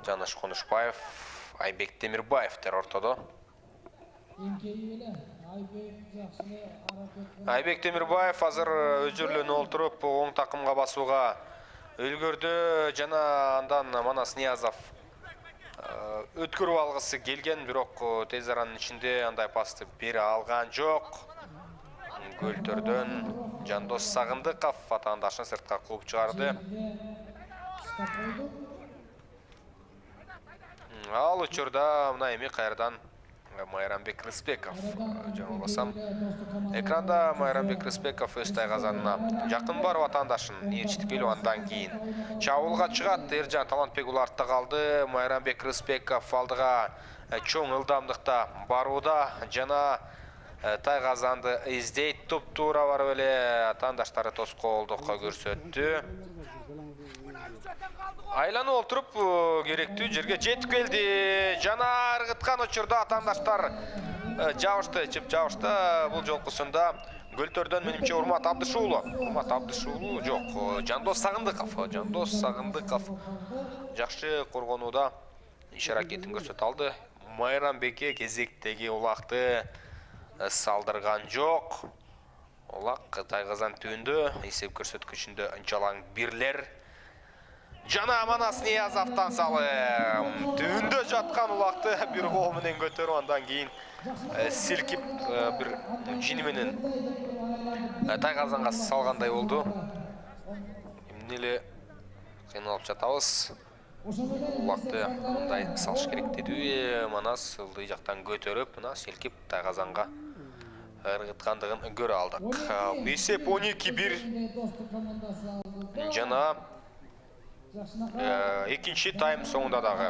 Жаныш Конушбаев, Айбек Темирбаевдер ортодо. Айбек Темирбаев азыр өзүрлөнүп олтуруп оң такымга басууга үлгөрдү. Жана андан Манас Ниязов өткөрүп алгысы келген, бирок тез аранын ичинде андай пасты бере алган жок. Гөлтөрдөн Жандос Сагындыков атаандашын сыртка кууп чыгарды. Ал учурда мына эми кайрадан Майрамбек Рыспеков. Жаңылбасам, экранда Майрамбек Рыспеков өз Тайгазанына жакын барып атаандашын ээрчитип келип, андан кийин чабуулга чыгат. Эржан Талантбек ул артта калды. Майрамбек Рыспеков алдыга чоң ылдамдыкта барууда жана Тайгазанды издейт. Туп-туура барып эле атаандаштары тоскоолдукка көрсөттү. Айланып олтуруп керектүү жерге жетип келди. Жана ыргыткан учурда атаандаштар жабышты, чып жабышты. Бул жолкусунда Гөлтөрдөн менимче Урмат Абдышуулу жок, Жандос Сагындыков. Жандос Сагындыков жакшы коргонууда иш аракетин көрсөтө алды. Майрамбекке кезектеги улагды салдырган жок. Улак Тайгазан түбүндө эсеп көрсөткүчүндө жалаң бирлер. Жана Манас Ниязовдон салым. Түндө жаткан улакты бир кол менен көтөрүп, андан кийин силкип бир жини менен тайгазанга салгандай болду. Эмне эле кыйналып жатабыз. Улакты мындай салыш керек деди. Манас ылдый жактан көтөрүп, мына силкип тайгазанга ыргыткандыгын көрө алдык. Эсеп 12-1. Жана экинчи тайм соңунда дагы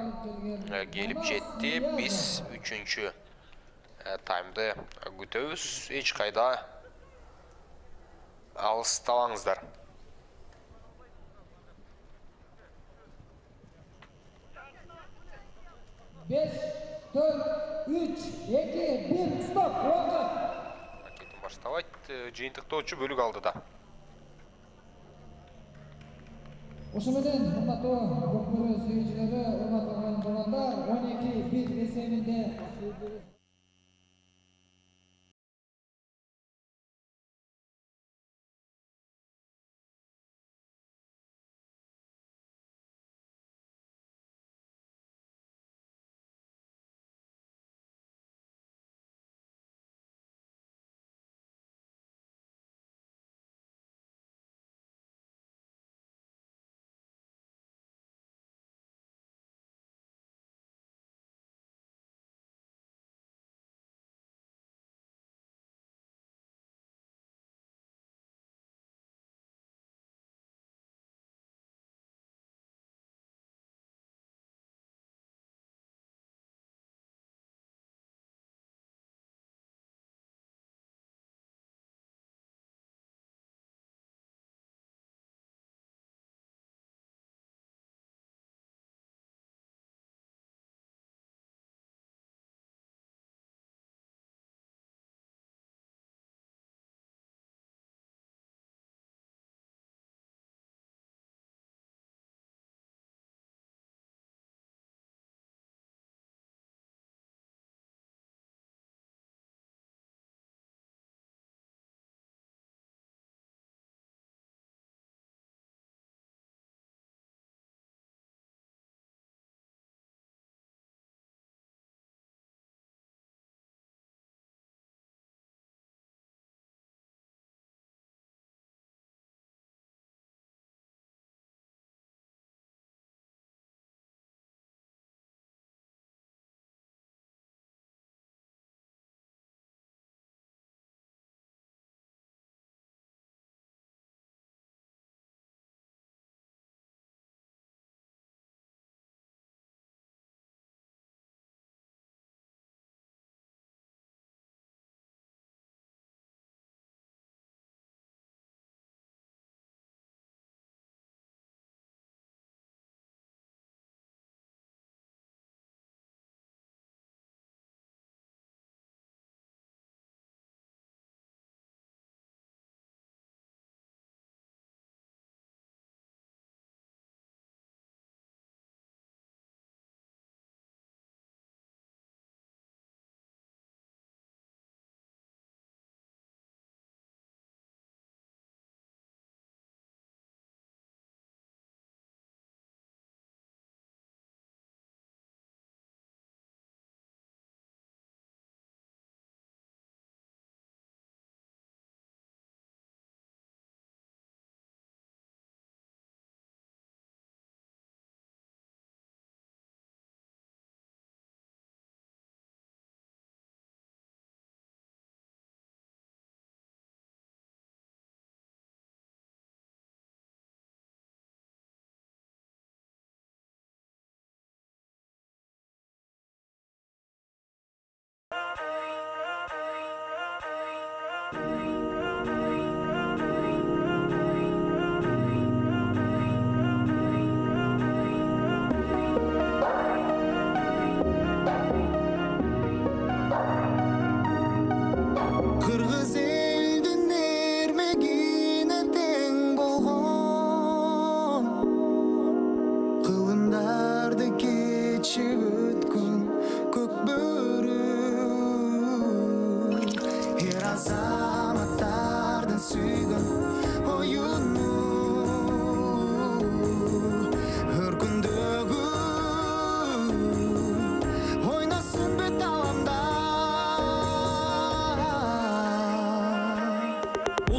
келип жетти. Биз 3-чү таймды күтөбүз. Эч кайда алыстабаңыздар. Beş, dört, üç, iki, bir, stop, vakit. Ракетин баштабайт. Жыйынтыктоочу бөлүк алдыда. Ошо менен урматтуу көпмөрө сүйүүчүлөрү, урматталган баландар 12-1 эсебинде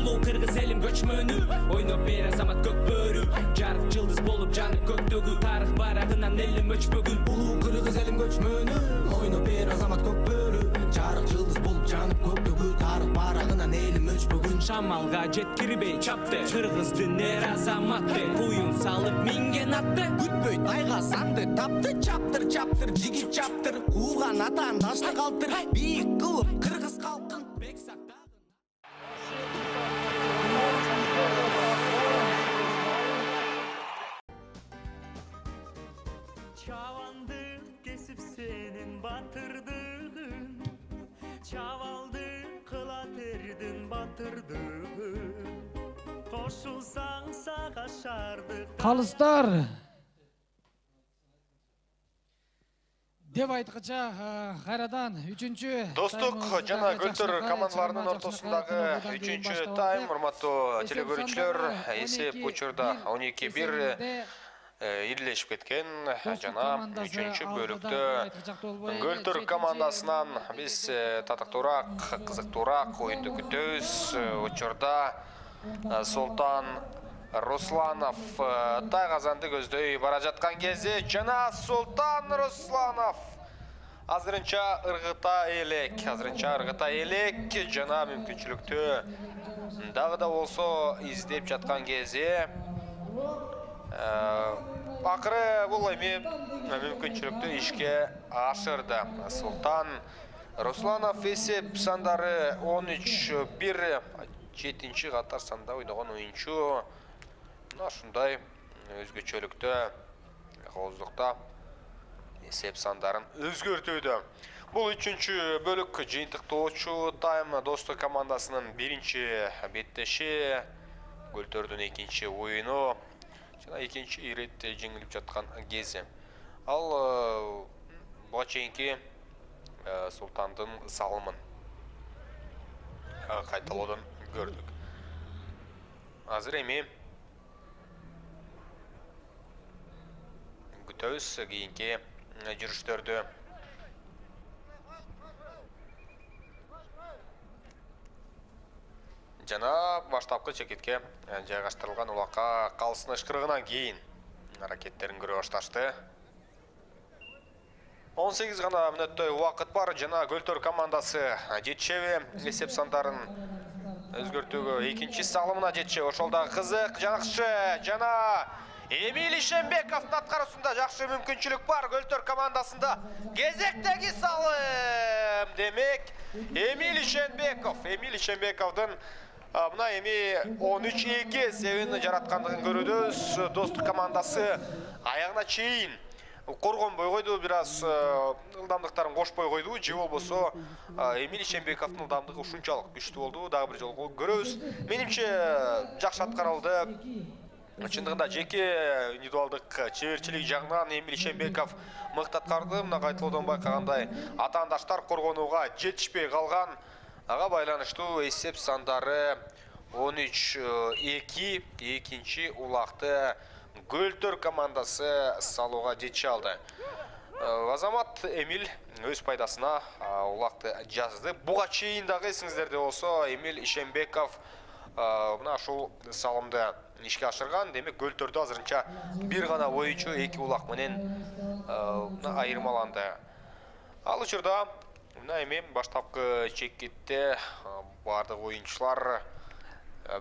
улуу кыргыз элим көчмөнү ойноп бер азамат көк бөрү жарык жылдыз болуп жанып көктөгү тарых барагынан элим өчпөгүн улуу кыргыз элим көчмөнү ойноп бер азамат көк бөрү жарык жылдыз болуп жанып көктөгү тарых барагынан элим өчпөгүн шамалга жеткирбей чапты кыргыздын эр азаматы куюн салып минген атты күтпөйт айга санды тапты чаптыр чаптыр жигит чаптыр кууган атан дашты калтыр бийик кылып кыргыз калкын бек сактагын Çavandı kesip senin batırdığın Çavaldı kılatırdın batırdığın Koşulsan sağa şardık Kalıstar деп айткыча кайрадан 3-чү Достук жана Көлтөр командаларынын ортосундагы 3-чү тайм, урматтуу теле көрүүчүлөр, эсеп учурда 12-1 ирлешип кеткен жана 3-чү бөлүктө Көлтөр командасынан биз татыктуураак, кызыктуураак оюнду күтөбүз. Учурда Султан Русланов Тайгазанды көздөй бара жаткан кезде жана Султан Русланов азырынча ыргыта элек жана мүмкүнчүлүктү дагы да болсо издеп жаткан кезде акыры бул эми мүмкүнчүлүктү ишке ашырды. Султан Русланов эсеп сандары 13-1 7-чи катар санда ойногон оюнчу. Ушундай өзгөчөлүктө кооздукта эсеп сандарын өзгөртүүдө. Бул 3-чү бөлүк жыйынтыктоочу тайм Достук командасынын 1-чи беттеши, Көлтөрдүн 2-чи оюну жана 2-чи ирет жеңилип жаткан кези. Ал буга чейинки Султандын салымын кайталоодон көрдүк. Азыр эми күтөбүз кийинки жүрүштөрдү. Жана баштапкы чекетке жайгаштырылган улакка калсын ышкырыгынан кийин аракеттерин көрө башташты. 18 гана мүнөттөй убакыт бар жана Көлтөр командасы жетишеби эсеп сандарын өзгөртүүгө 2-чи салымына жетишеби. Ошол да кызык жакшы жана Эмиль Ишембековдун аткаруусунда жакшы мүмкүнчүлүк бар Көлтөр командасында. Кезектеги салым демек Эмиль Ишембековдун мына эми 13-2 эсебин жараткандыгын көрөбүз. Достук командасы аягына чейин коргонбой койду, бир аз ылдамдыктарын кошпой койду, же болбосо Эмиль Ишембековдун ылдамдыгы ушунчалык күчтүү болду. Дагы бир жолу көрөбүз. Менимче жакшы аткарылды. Чындыгында жеке индивидуалдык чеберчилик жагынан Эмиль Ишембеков мыкты аткарды. Мына кайталоодон байкагандай атаандаштар коргонууга жетишпей калган. Ага байланыштуу эсеп сандары 13-2 экинчи улакты Көлтөр командасы салууга жетише алды. Азамат Эмиль өз пайдасына улакты жазды. Буга чейин дагы эсиңиздерде болсо Эмиль Ишембеков мына ушул салымды ишке ашырган. Демек Көлтөрдө азырынча бир гана оюнчу 2 улак менен айырмаланды. Ал учурда мына эми баштапкы чекетте бардык оюнчулар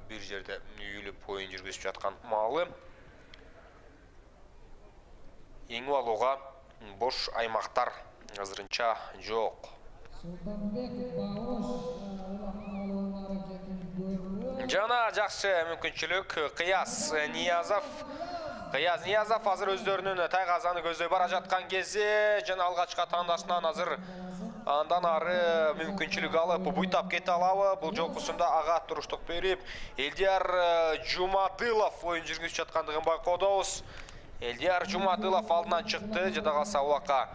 бир жерде үйүлүп оюн жүргүзүп жаткан маалы. Эңип алууга бош аймактар азырынча жок. Жана жакшы мүмкүнчүлүк Кыяз Ниязов азыр өздөрүнүн Тайгазаны көздөй бара жаткан кезде жана алгачкы атаандашынан азыр андан ары мүмкүнчүлүк алып буйтап кете алабы? Бул жолкусунда ага туруштук берип Элдияр Жумадылов оюн жүргүзүп жаткандыгын байкоодобуз. Элдияр Жумадылов алдынан чыкты, жада калса улакка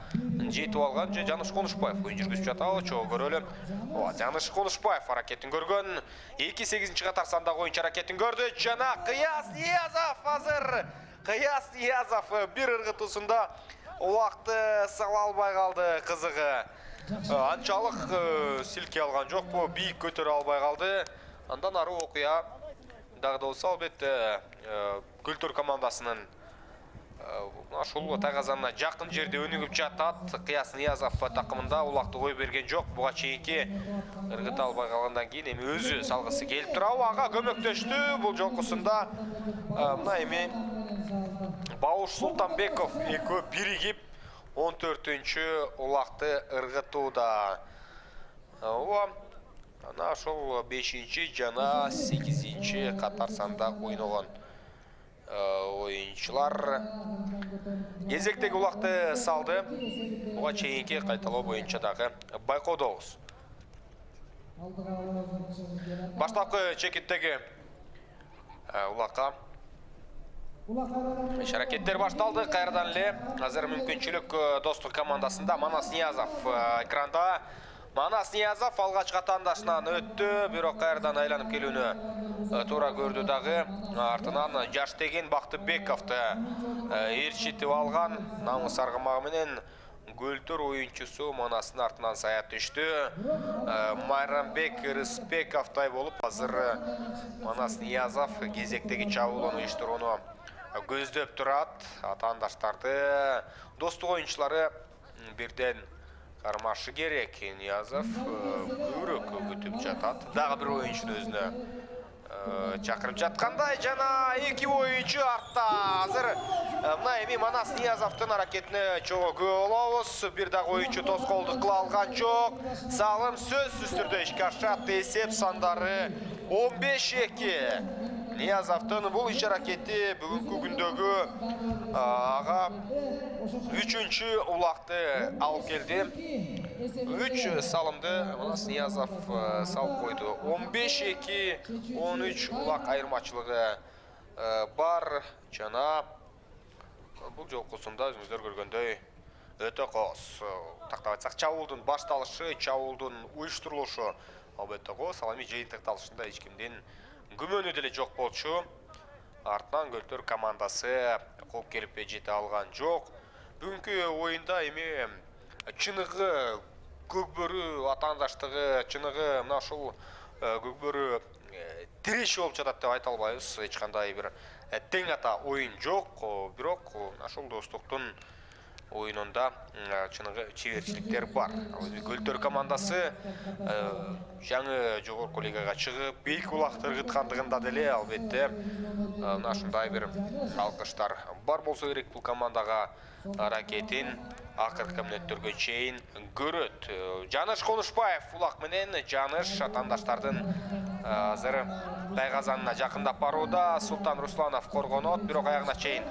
жетип алган. Жаныш Конушбаев оюн жүргүзүп жатабы? Чогуу көрөлү. Жаныш Конушбаев аракетин көргөн. 2-8-чи катар сандагы оюнчу аракетин көрдү. Жана Кыяз Ниязов азыр. Кыяз Ниязов бир ыргытуусунда улакты сала албай калды, кызыгы. Анчалык силке алган жокпу, бийик көтөрө албай калды. Андан ары окуя дагы да болсо албетте Көлтөр командасынын ушул тайгазанына жакын жерде өнүгүп жатат. Кыяс Ниязов такымында улакты кой берген жок. Буга чейинки ыргыта албай калгандан кийин эми өзү салгысы келип турабы. Ага көмөктөштү бул жолкусунда. Мына эми Бауш Султанбеков экөө биригип 14-чү улакты ыргытууда. Ана ошол 5-чи жана 8-чи катар санда ойногон оюнчулар кезектеги улакты салды. Буга чейинки кайталоо боюнча дагы байкоодобуз. Баштапкы чекиттеги улакка иш-аракеттер башталды. Кайрадан эле азыр мүмкүнчүлүк Достук командасында. Манас Ниязов экранда. Манас Ниязов алгачкы атаандашынан өттү, бирок кайрадан айланып келүүнү туура көрдү дагы. Артынан Жаштеген Бактыбековду ээрчитип алган. Намыс аргымагы менен Көлтөр оюнчусу Манастын артынан сая түштү. Майрамбек Рыспековдай болуп азыр Манас Ниязов кезектеги чабуулоону уюштурууну көздөп турат. Атаандаштарды Достук оюнчулары бирден кармашы керек. Ниязов көбүрөөк күтүп жатат. Дагы бир оюнчуну өзүнө чакырып жаткандай жана эки оюнчу артта. Азыр мына эми Манас Ниязовдун аракетине чогуу күбө болобуз. Бир дагы оюнчу тоскоолдук кыла алган жок. Салым сөзсүз түрдө ишке ашат. Эсеп сандары 15-2. Ниязовдун бул иш-аракети бүгүнкү күндөгү ага 3-чү улакты алып келди. 3 салымды Манас Ниязов салып койду. 15-2, 13 улак айырмачылыгы бар жана бул жолкусунда өзүңүздөр көргөндөй өтө кооз. Тактап айтсак, чабуулдун башталышы, чабуулдун уюштурулушу албетте кооз. Ал эми жыйынтыкталышында эч кимдин күмөнү деле жок болчу. Артынан Көлтөр командасы кууп келип жете алган жок. Бүгүнкү оюнда эми чыныгы көкбөрү атаандаштыгы, чыныгы мына ушул көкбөрү тиреши болуп жатат деп айта албайбыз. Эч кандай бир тең ата оюн жок, бирок ушул Достуктун оюнунда чыныгы чеберчиликтер бар. Көлтөр командасы жаңы жогорку лигага чыгып, бийик улакты ыргыткандыгында деле албетте мына ушундай бир алкыштар бар болсо керек. Бул командага аракетин акыркы мүнөттөргө чейин көрөт. Жаныш Конушбаев улак менен Жаныш атаандаштардын азыр тайгазанына жакындап барууда. Султан Русланов коргонот, бирок аягына чейин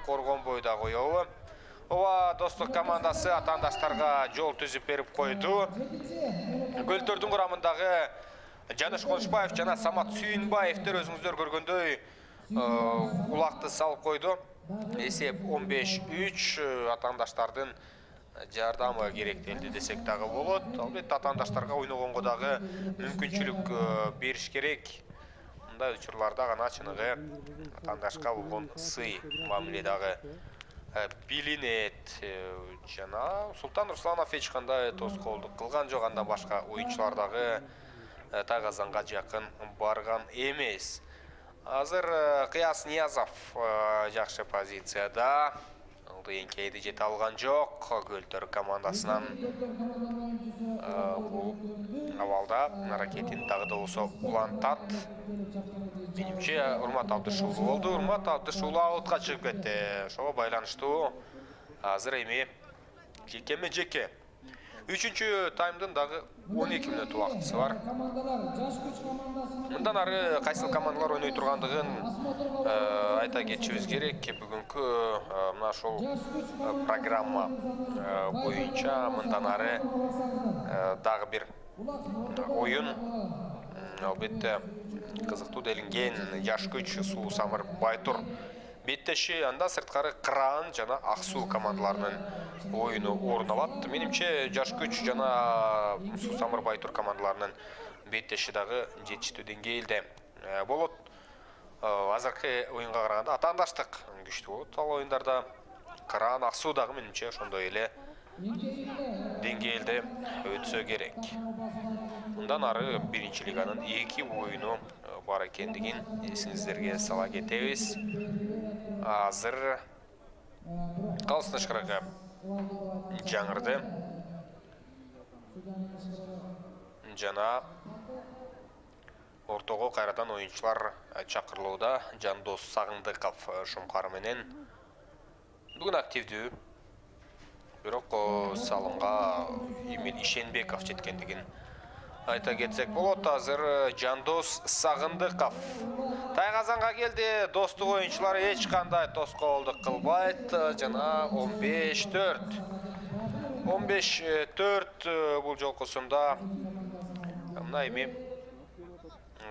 коргонбой да коёбу. Ова Достук командасы атаандаштарга жол түзүп берип койду. Көлтөрдүн курамындагы Жаныш Конушбаев жана Самат Сүйүнбаевдер өзүңүздөр көргөндөй улакты салып койду. Эсеп 15-3 атаандаштардын жардамы керектелди десек дагы болот. Албетте атаандаштарга ойногонго дагы мүмкүнчүлүк бериш керек. Мындай учурларда гана чыныгы атаандашка болгон сый мамиле дагы билинет. Жана Султан Русланов эч кандай тоскоолдук кылган жок, андан башка оюнчулар дагы тайгазанга жакын барган эмес. Азыр Кыяс Ниязов жакшы позицияда. Эңкейди жете алган жок. Көлтөр командасынан бул абалда аракетин дагы да болсо улантат. Менимче Урмат Абдышуулу болду. Урмат Абдышуулу аутка чыгып кетти. Ошого байланыштуу азыр эми жекеме жеке. 3-чү таймдын дагы 12 мүнөт убактысы бар. Мындан ары кайсыл командалар ойной тургандыгын айта кетишибиз керек. Бүгүнкү мына ушул программа боюнча мындан ары дагы бир оюн албетте кызыктуу делинген Жаш күч Суу Самыр Байтур беттеши, анда сырткары Кыран жана Ак Суу командаларынын оюну орун алат. Менимче Жаш күч жана Суу Самыр Байтур командаларынын беттеши дагы жетиштүү деңгээлде болот. Азыркы оюнга караганда атаандаштык күчтүү болот. Ал оюндарда Кыран, Ак Суу дагы менимче ошондой эле деңгээлде өтсө керек. Мындан ары биринчи лиганын 2 оюну бар экендигин эсиңиздерге сала кетебиз. Азыр калыс тышкарыга жаңырды. Жана ортого кайрадан оюнчулар чакырылууда. Жандос Сагындыков Шумкар менен бүгүн активдүү. Бирок салымга Эмил Ишенбеков жеткендигин айта кетсек болот. Азыр Жандос Сагындыков тайгазанга келди. Достук оюнчулары эч кандай тоскоолдук кылбайт. Жана 15-4. 15-4 бул жолкусунда мына эми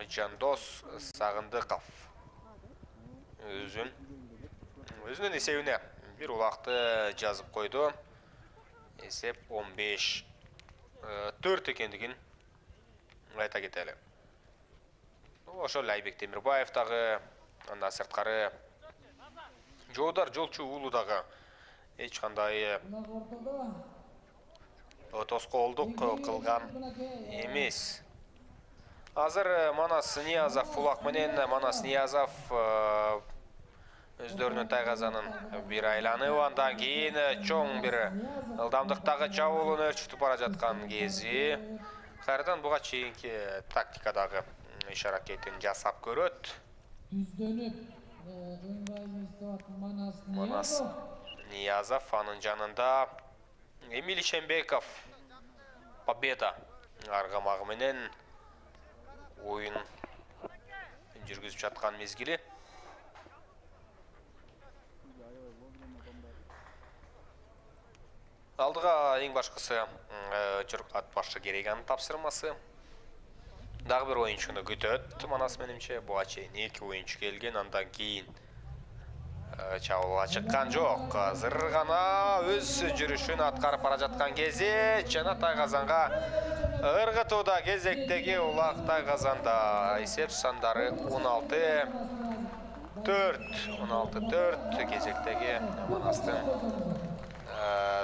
Жандос Сагындыков өзүнүн эсебине бир улакты жазып койду. Эсеп 15-4 экендигин айта кетели. Ошол Айбек Темирбаев дагы, андан сырткары Жоодар Жолчу уулу дагы эч кандай тоскоолдук кылган эмес. Азыр Манас Ниязов улак менен Манас Ниязов өздөрүнүн тайгазанын бир айланып, андан кийин чоң бир ылдамдыктагы чабуулун өрчүтүп бара жаткан кези кайрадан буга чейинки тактикадагы иш аракетин жасап көрөт. Манас Ниязов, анын жанында Эмил Ишенбеков победа аргамагы менен оюн жүргүзүп жаткан мезгили. Алдыга эң башкысы ат башы Керейганын тапшырмасы. Дагы бир оюнчуну күтөт Манас менимче. Буга чейин 2 оюнчу келген, андан кийин чабуулга чыккан жок. Азыр гана өз жүрүшүн аткарып бара жаткан кези жана тайгазанга ыргытууда кезектеги улак тайгазанда. Эсеп сандары 16-4. 16-4 кезектеги Манастын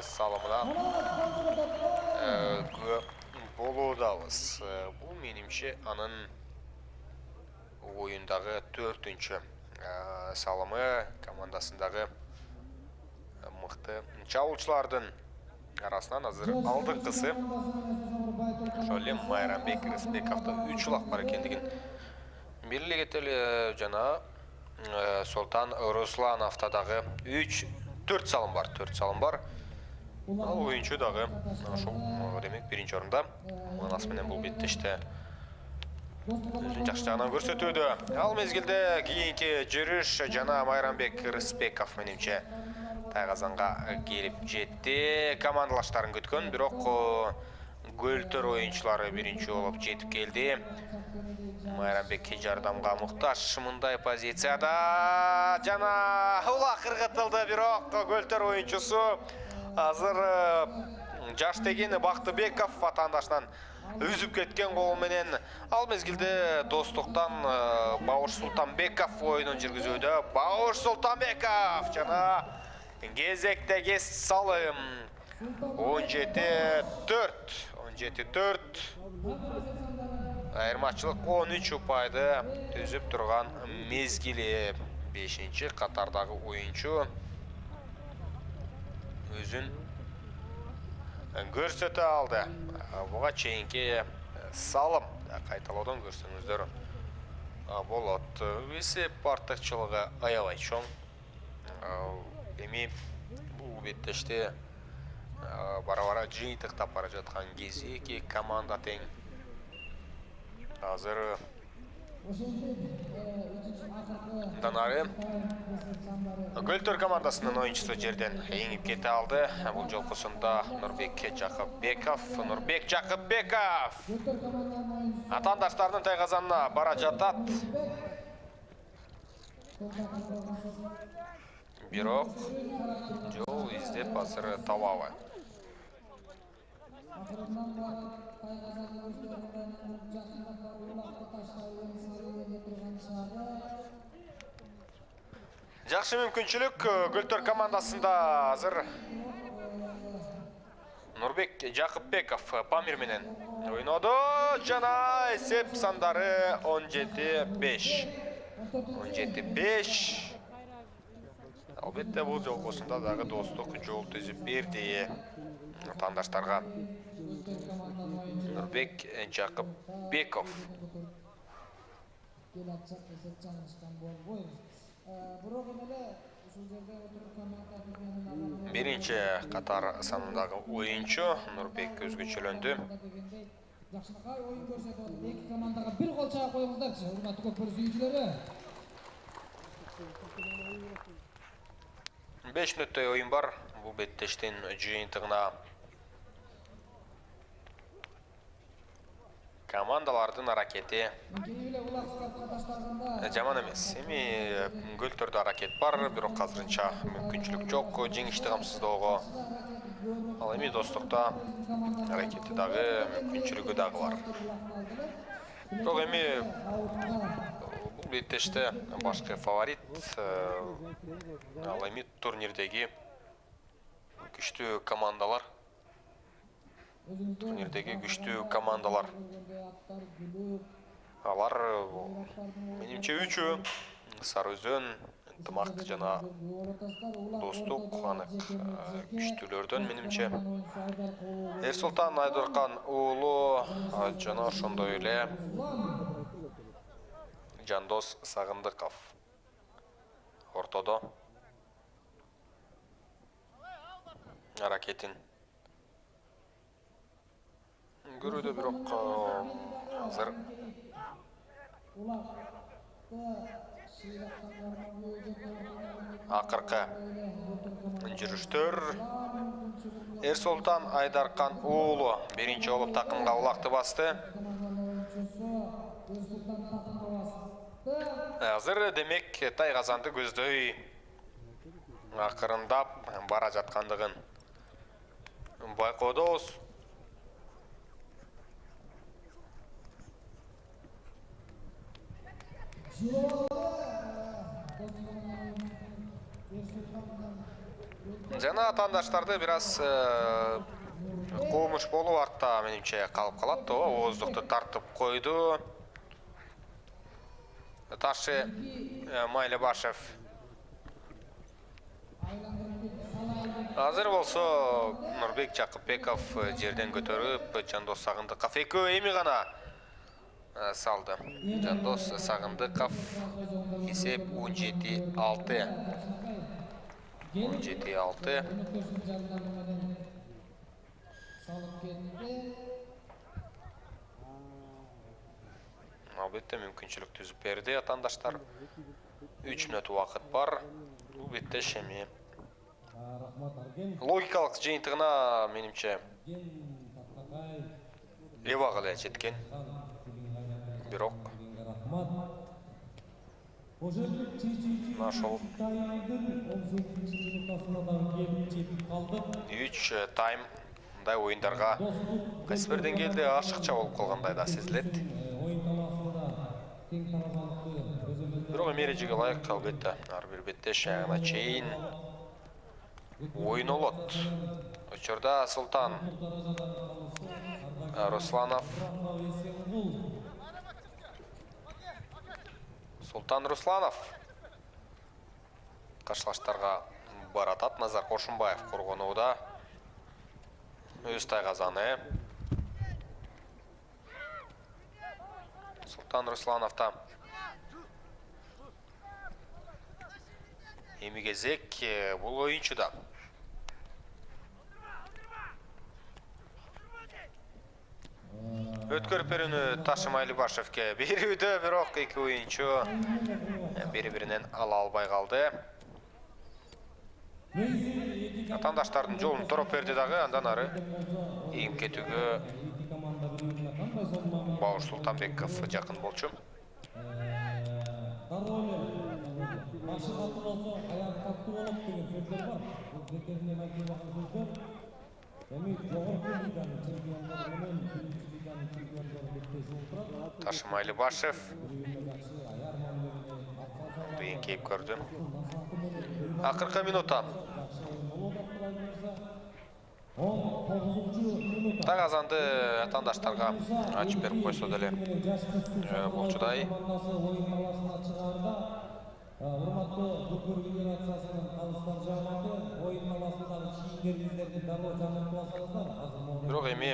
салымына болуудабыз. Бул менимче анын оюндагы 4-үнчү салымы, командасындагы мыкты чабуулчулардын арасынан азыр алдыңкысы. Ошол эле Майрамбек Рысбековдо 3 улак бар экендигин белгилей кетели. Жана Султан Руслановдо дагы 4 салым бар. 4 салым бар. Ал оюнчу дагы ошол демек биринчи орунда. Манас менен бул беттеште өзүн жакшы жагынан көрсөтүүдө. Ал мезгилде кийинки жүрүш жана Майрамбек Рысбеков менимче тайгазанга келип жетти. Командалаштарын күткөн, бирок Гөлтөр оюнчулары биринчи болуп жетип келди. Майрамбек жардамга муктаж мындай позицияда жана улак ыргытылды, бирок Гөлтөр оюнчусу азыр Жаштегин Бактыбеков ватандашынан үзүп кеткен колу менен. Ал мезгилде Достуктан Бауш Султанбеков оюнун жүргүзүүдө. Бауш Султанбеков жана кезектеги салым 17-4. 17-4. Айырмачылык 13 упайды түзүп турган мезгили. 5-чи катардагы оюнчу өзүн көрсөтө алды. Буга чейинки салым кайталоодон көрсөңүздөр болот. Эсеп артыкчылыгы аябай чоң. Эми бул беттеште бара-бара жыйынтыктап бара жаткан кези эки команда тең. Азыр Данары Гөлтөр командасынын оюнчусу жерден эңип кете алды. Бул жолкусунда Нурбек Жакыпбеков. Нурбек Жакыпбеков атаандаштардын тайгазанына бара жатат. Бирок жол издеп азыр табабы. Жакшы мүмкүнчүлүк Гөлтөр командасында азыр Нурбек Жакыпбеков Памир менен ойноду жана эсеп сандары 17-5. 17-5. Албетте бул жолгосунда дагы достук жол түзүп берди атаандаштарга. Нурбек Жакыпбеков. Биринчи катар санындагы оюнчу Нурбек өзгөчөлөндү. Жакшынакай оюн көрсөтүп атат. Эки командага бир гол чаап коюңуздарчы, урматтуу көкбөр сүйүүчүлөрү. 5 мүнөттөй оюн бар. Бул беттештин жыйынтыгына командалардын аракети жаман эмес. Эми гөлтөрдө аракет бар, бирок азырынча мүмкүнчүлүк жок жеңишти камсыздоого. Ал эми достукта аракети дагы, мүмкүнчүлүгү дагы бар. Бирок эми бул беттеште башкы фаворит ал эми турнирдеги күчтүү командалар. Алар менимче үчөө Сары Өзөн, Ынтымак жана Достук анык күчтүүлөрдөн менимче. Эрсултан Айдыркан уулу жана ошондой эле Жандос Сагындыков ортодо аракетин көрүүдө, бирок азыр акыркы жүрүштөр. Эрсултан Айдаркан уулу биринчи болуп такымга улакты басты. Азыр демек Тайгазанды көздөй акырындап бара жаткандыгын байкоодобуз. Жана атаандаштарды бир аз куумуш болуп артта менимче калып калат. Ооздукту тартып койду. Ташы Майлыбашев. Азыр болсо Нурбек Жакыпбеков жерден көтөрүп, Жандос Сагындыков экөө эми гана салды. Жандос Сагындыков эсеп 17-6. 17-6. Албетте мүмкүнчүлүк түзүп берди атаандаштар. 3 мүнөт убакыт бар. Бул бетте эми логикалык жыйынтыгына менимче эбак эле жеткен. Бирок ошол 3 тайм мындай оюндарга кайсы бир деңгээлде ашыкча болуп калгандай да сезилет. Бирок эрежеге ылайык албетте ар бир беттеш аягына чейин ойнолот. Учурда Султан Русланов. Султан Русланов каршылаштарга баратат. Назар Кошунбаев коргонууда. Өз Тайгазаны. Султан Руслановта эми кезек бул оюнчуда. Өткөрүп берүүнү Ташы Майлыбашевке берүүдө, бирок эки оюнчу бири-биринен ала албай калды. Атаандаштардын жолун тороп берди дагы, андан ары ийим кетүүгө Бауыр Султанбеков жакын болчу. Ташы Майлыбашев эңкейип көрдү. Акыркы минутта Так азанды атаандаштарга ачып берип койсо деле болчудай. Урматтуу Футбол Федерациясынын калыстар жааматы оюн талаасындагы кийимдерибиздерди дароо жаңыртып алсаңыздар, азыр Бирок эми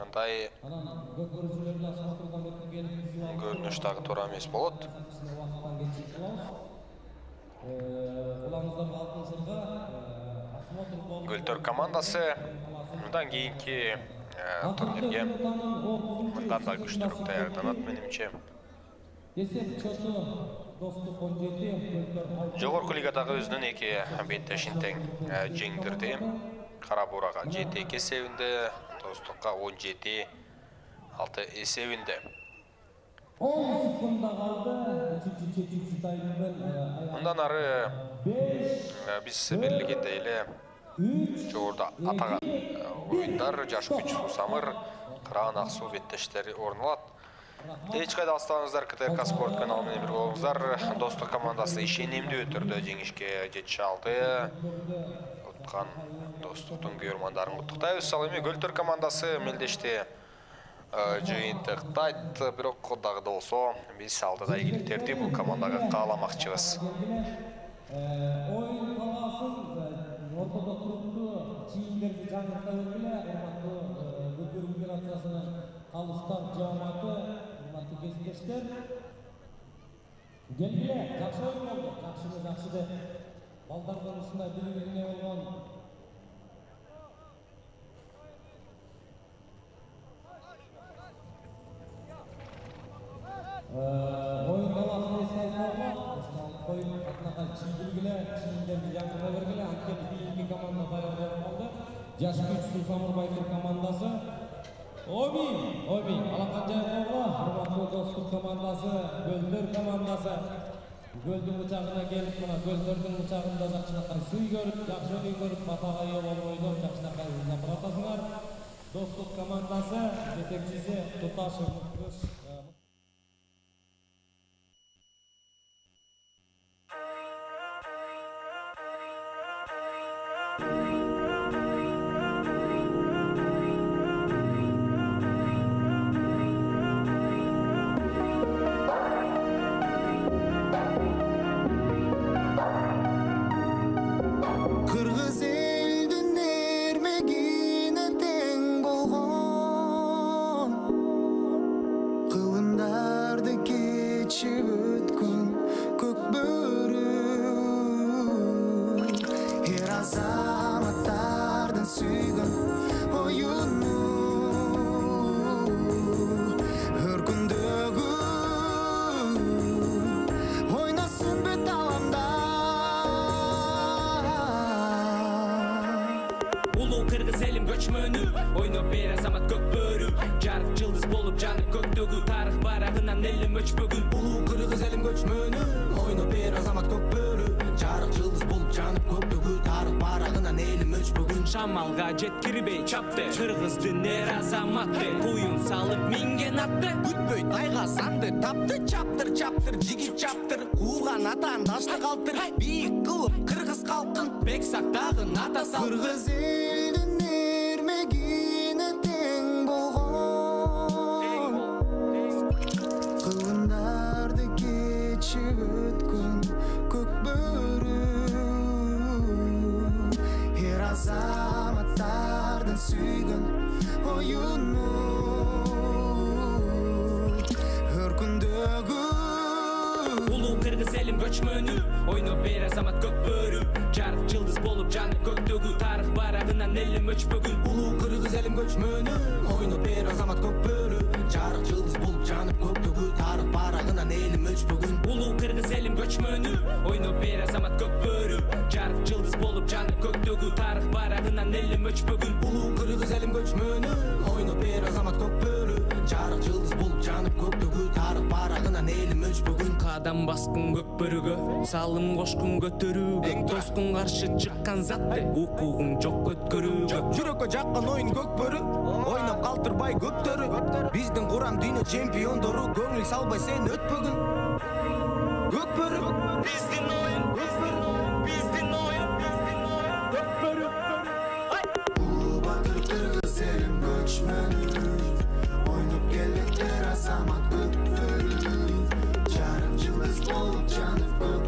андай анан көп көрүүчүлөр менен сатылган өтүп келип көрүнүш дагы туура эмес болот. Кулаңыздарга алтын сырга Гөлтөр командасы мындан кийинки турнирге мындан да күчтүүрөөк даярданат менимче. Есеп чоту Достук 17 Жогорку лигадагы өзүнүн эки беттешин тең жеңдирди. Кара Бурага 7-2 эсебинде, Достукка 17-6 эсебинде. 10 секундда калды. Үчүнчү таймдын Мындан ары биз белгилегендей эле жогоруда атаган оюндар Жаш күч Сусамыр, Кыран Аксуу беттештери орун алат. Эч кайда алыстабаңыздар, КТРК спорт каналы менен бирге болуңуздар. Достук командасы ишенимдүү түрдө жеңишке жете алды. Уткан Достуктун күйөрмандарын куттуктайбыз. Ал эми Гөлтөр командасы мелдешти жыйынтыктайт, бирок дагы да болсо биз алдыда ийгиликтерди бул командага кааламакчыбыз. Оюн талаасын ортодо туруктуу чийимдерди жаңырта бергиле, урматтуу Футбол Федерациясынын калыстар жааматы, урматтуу кесиптештер. Келгиле, жакшы оюн болду, жакшы деп балдардын ушундай бири-бирине болгон оюн талаасын эске алып коюп атынакай чийдиргиле, чийимдерди жаңырта бергиле, анткени кийинки команда даярданып калды. Жаш күч Сусамыр Байкыр командасы. Обий, Алаканжаевго, урматтуу Достук командасы, Гөлтөр командасы. Гөлдүн бычагына келип, мына Гөлтөрдүн бычагында жакшынакай сый көрүп, жакшы оюн көрүп, батага ээ болбойдур, жакшынакай ызап атасыңар. Достук командасы жетекчиси Туташев Муктуш. Ойноп бер азамат көк бөрү, жарык жылдыз болуп жанып көктөгү, тарых барагынан элим өчпөгүн. Улуу кыргыз элим көчмөнү, ойноп бер азамат көк бөрү, жарык жылдыз болуп жанып көктөгү, тарых барагынан элим өчпөгүн. Шамалга жеткирбей чапты, кыргыздын эр азаматы, куюн салып минген атты, күтпөйт айга санды тапты, чаптыр жигит чаптыр, кууган атаандашты калтыр, бийик кылып кыргыз калкын бек сактагын ата сал. Кыргыз элдин эрмегине тең болгон, кылымдарды кечип өткөн көк бөрү, эр азаматтардын сүйгөн оюну, өркүндөгү улуу кыргыз элим көчмөнү, ойноп бер азамат көк бөрү, жарык жылдыз болуп жанып көктөгү, тарых барагынан элим өчпөгүн. Улуу кыргыз элим көчмөнү, ойноп бер азамат көк бөрү, жарык жылдыз болуп жанып көктөгү, тарых барагынан элим өчпөгүн. Улуу кыргыз элим көчмөнү, ойноп бер азамат көк бөрү, жарык жылдыз болуп жанып көктөгү, тарых барагынан элим өчпөгүн. Улуу кыргыз элим көчмөнү, ойноп бер азамат көк бөрү, жарык жылдыз болуп жанып көктөгү, тарых барагынан элим өчпөгүн. Кадам баскын көк бөрүгө, салым кошкун көтөрүүгө, тоскун каршы чыккан затты, укугуң жок өткөрүүгө. Жүрөккө жаккан оюн көк бөрү, ойноп калтырбай көптөрү, биздин курам дүйнө чемпиондору, көңүл салбай сен өтпөгүн. Көк бөрү биздин оюн, биздин оюн, көк бөрү. Улуу батыр кыргыз элим көчмөнү. болуп жанып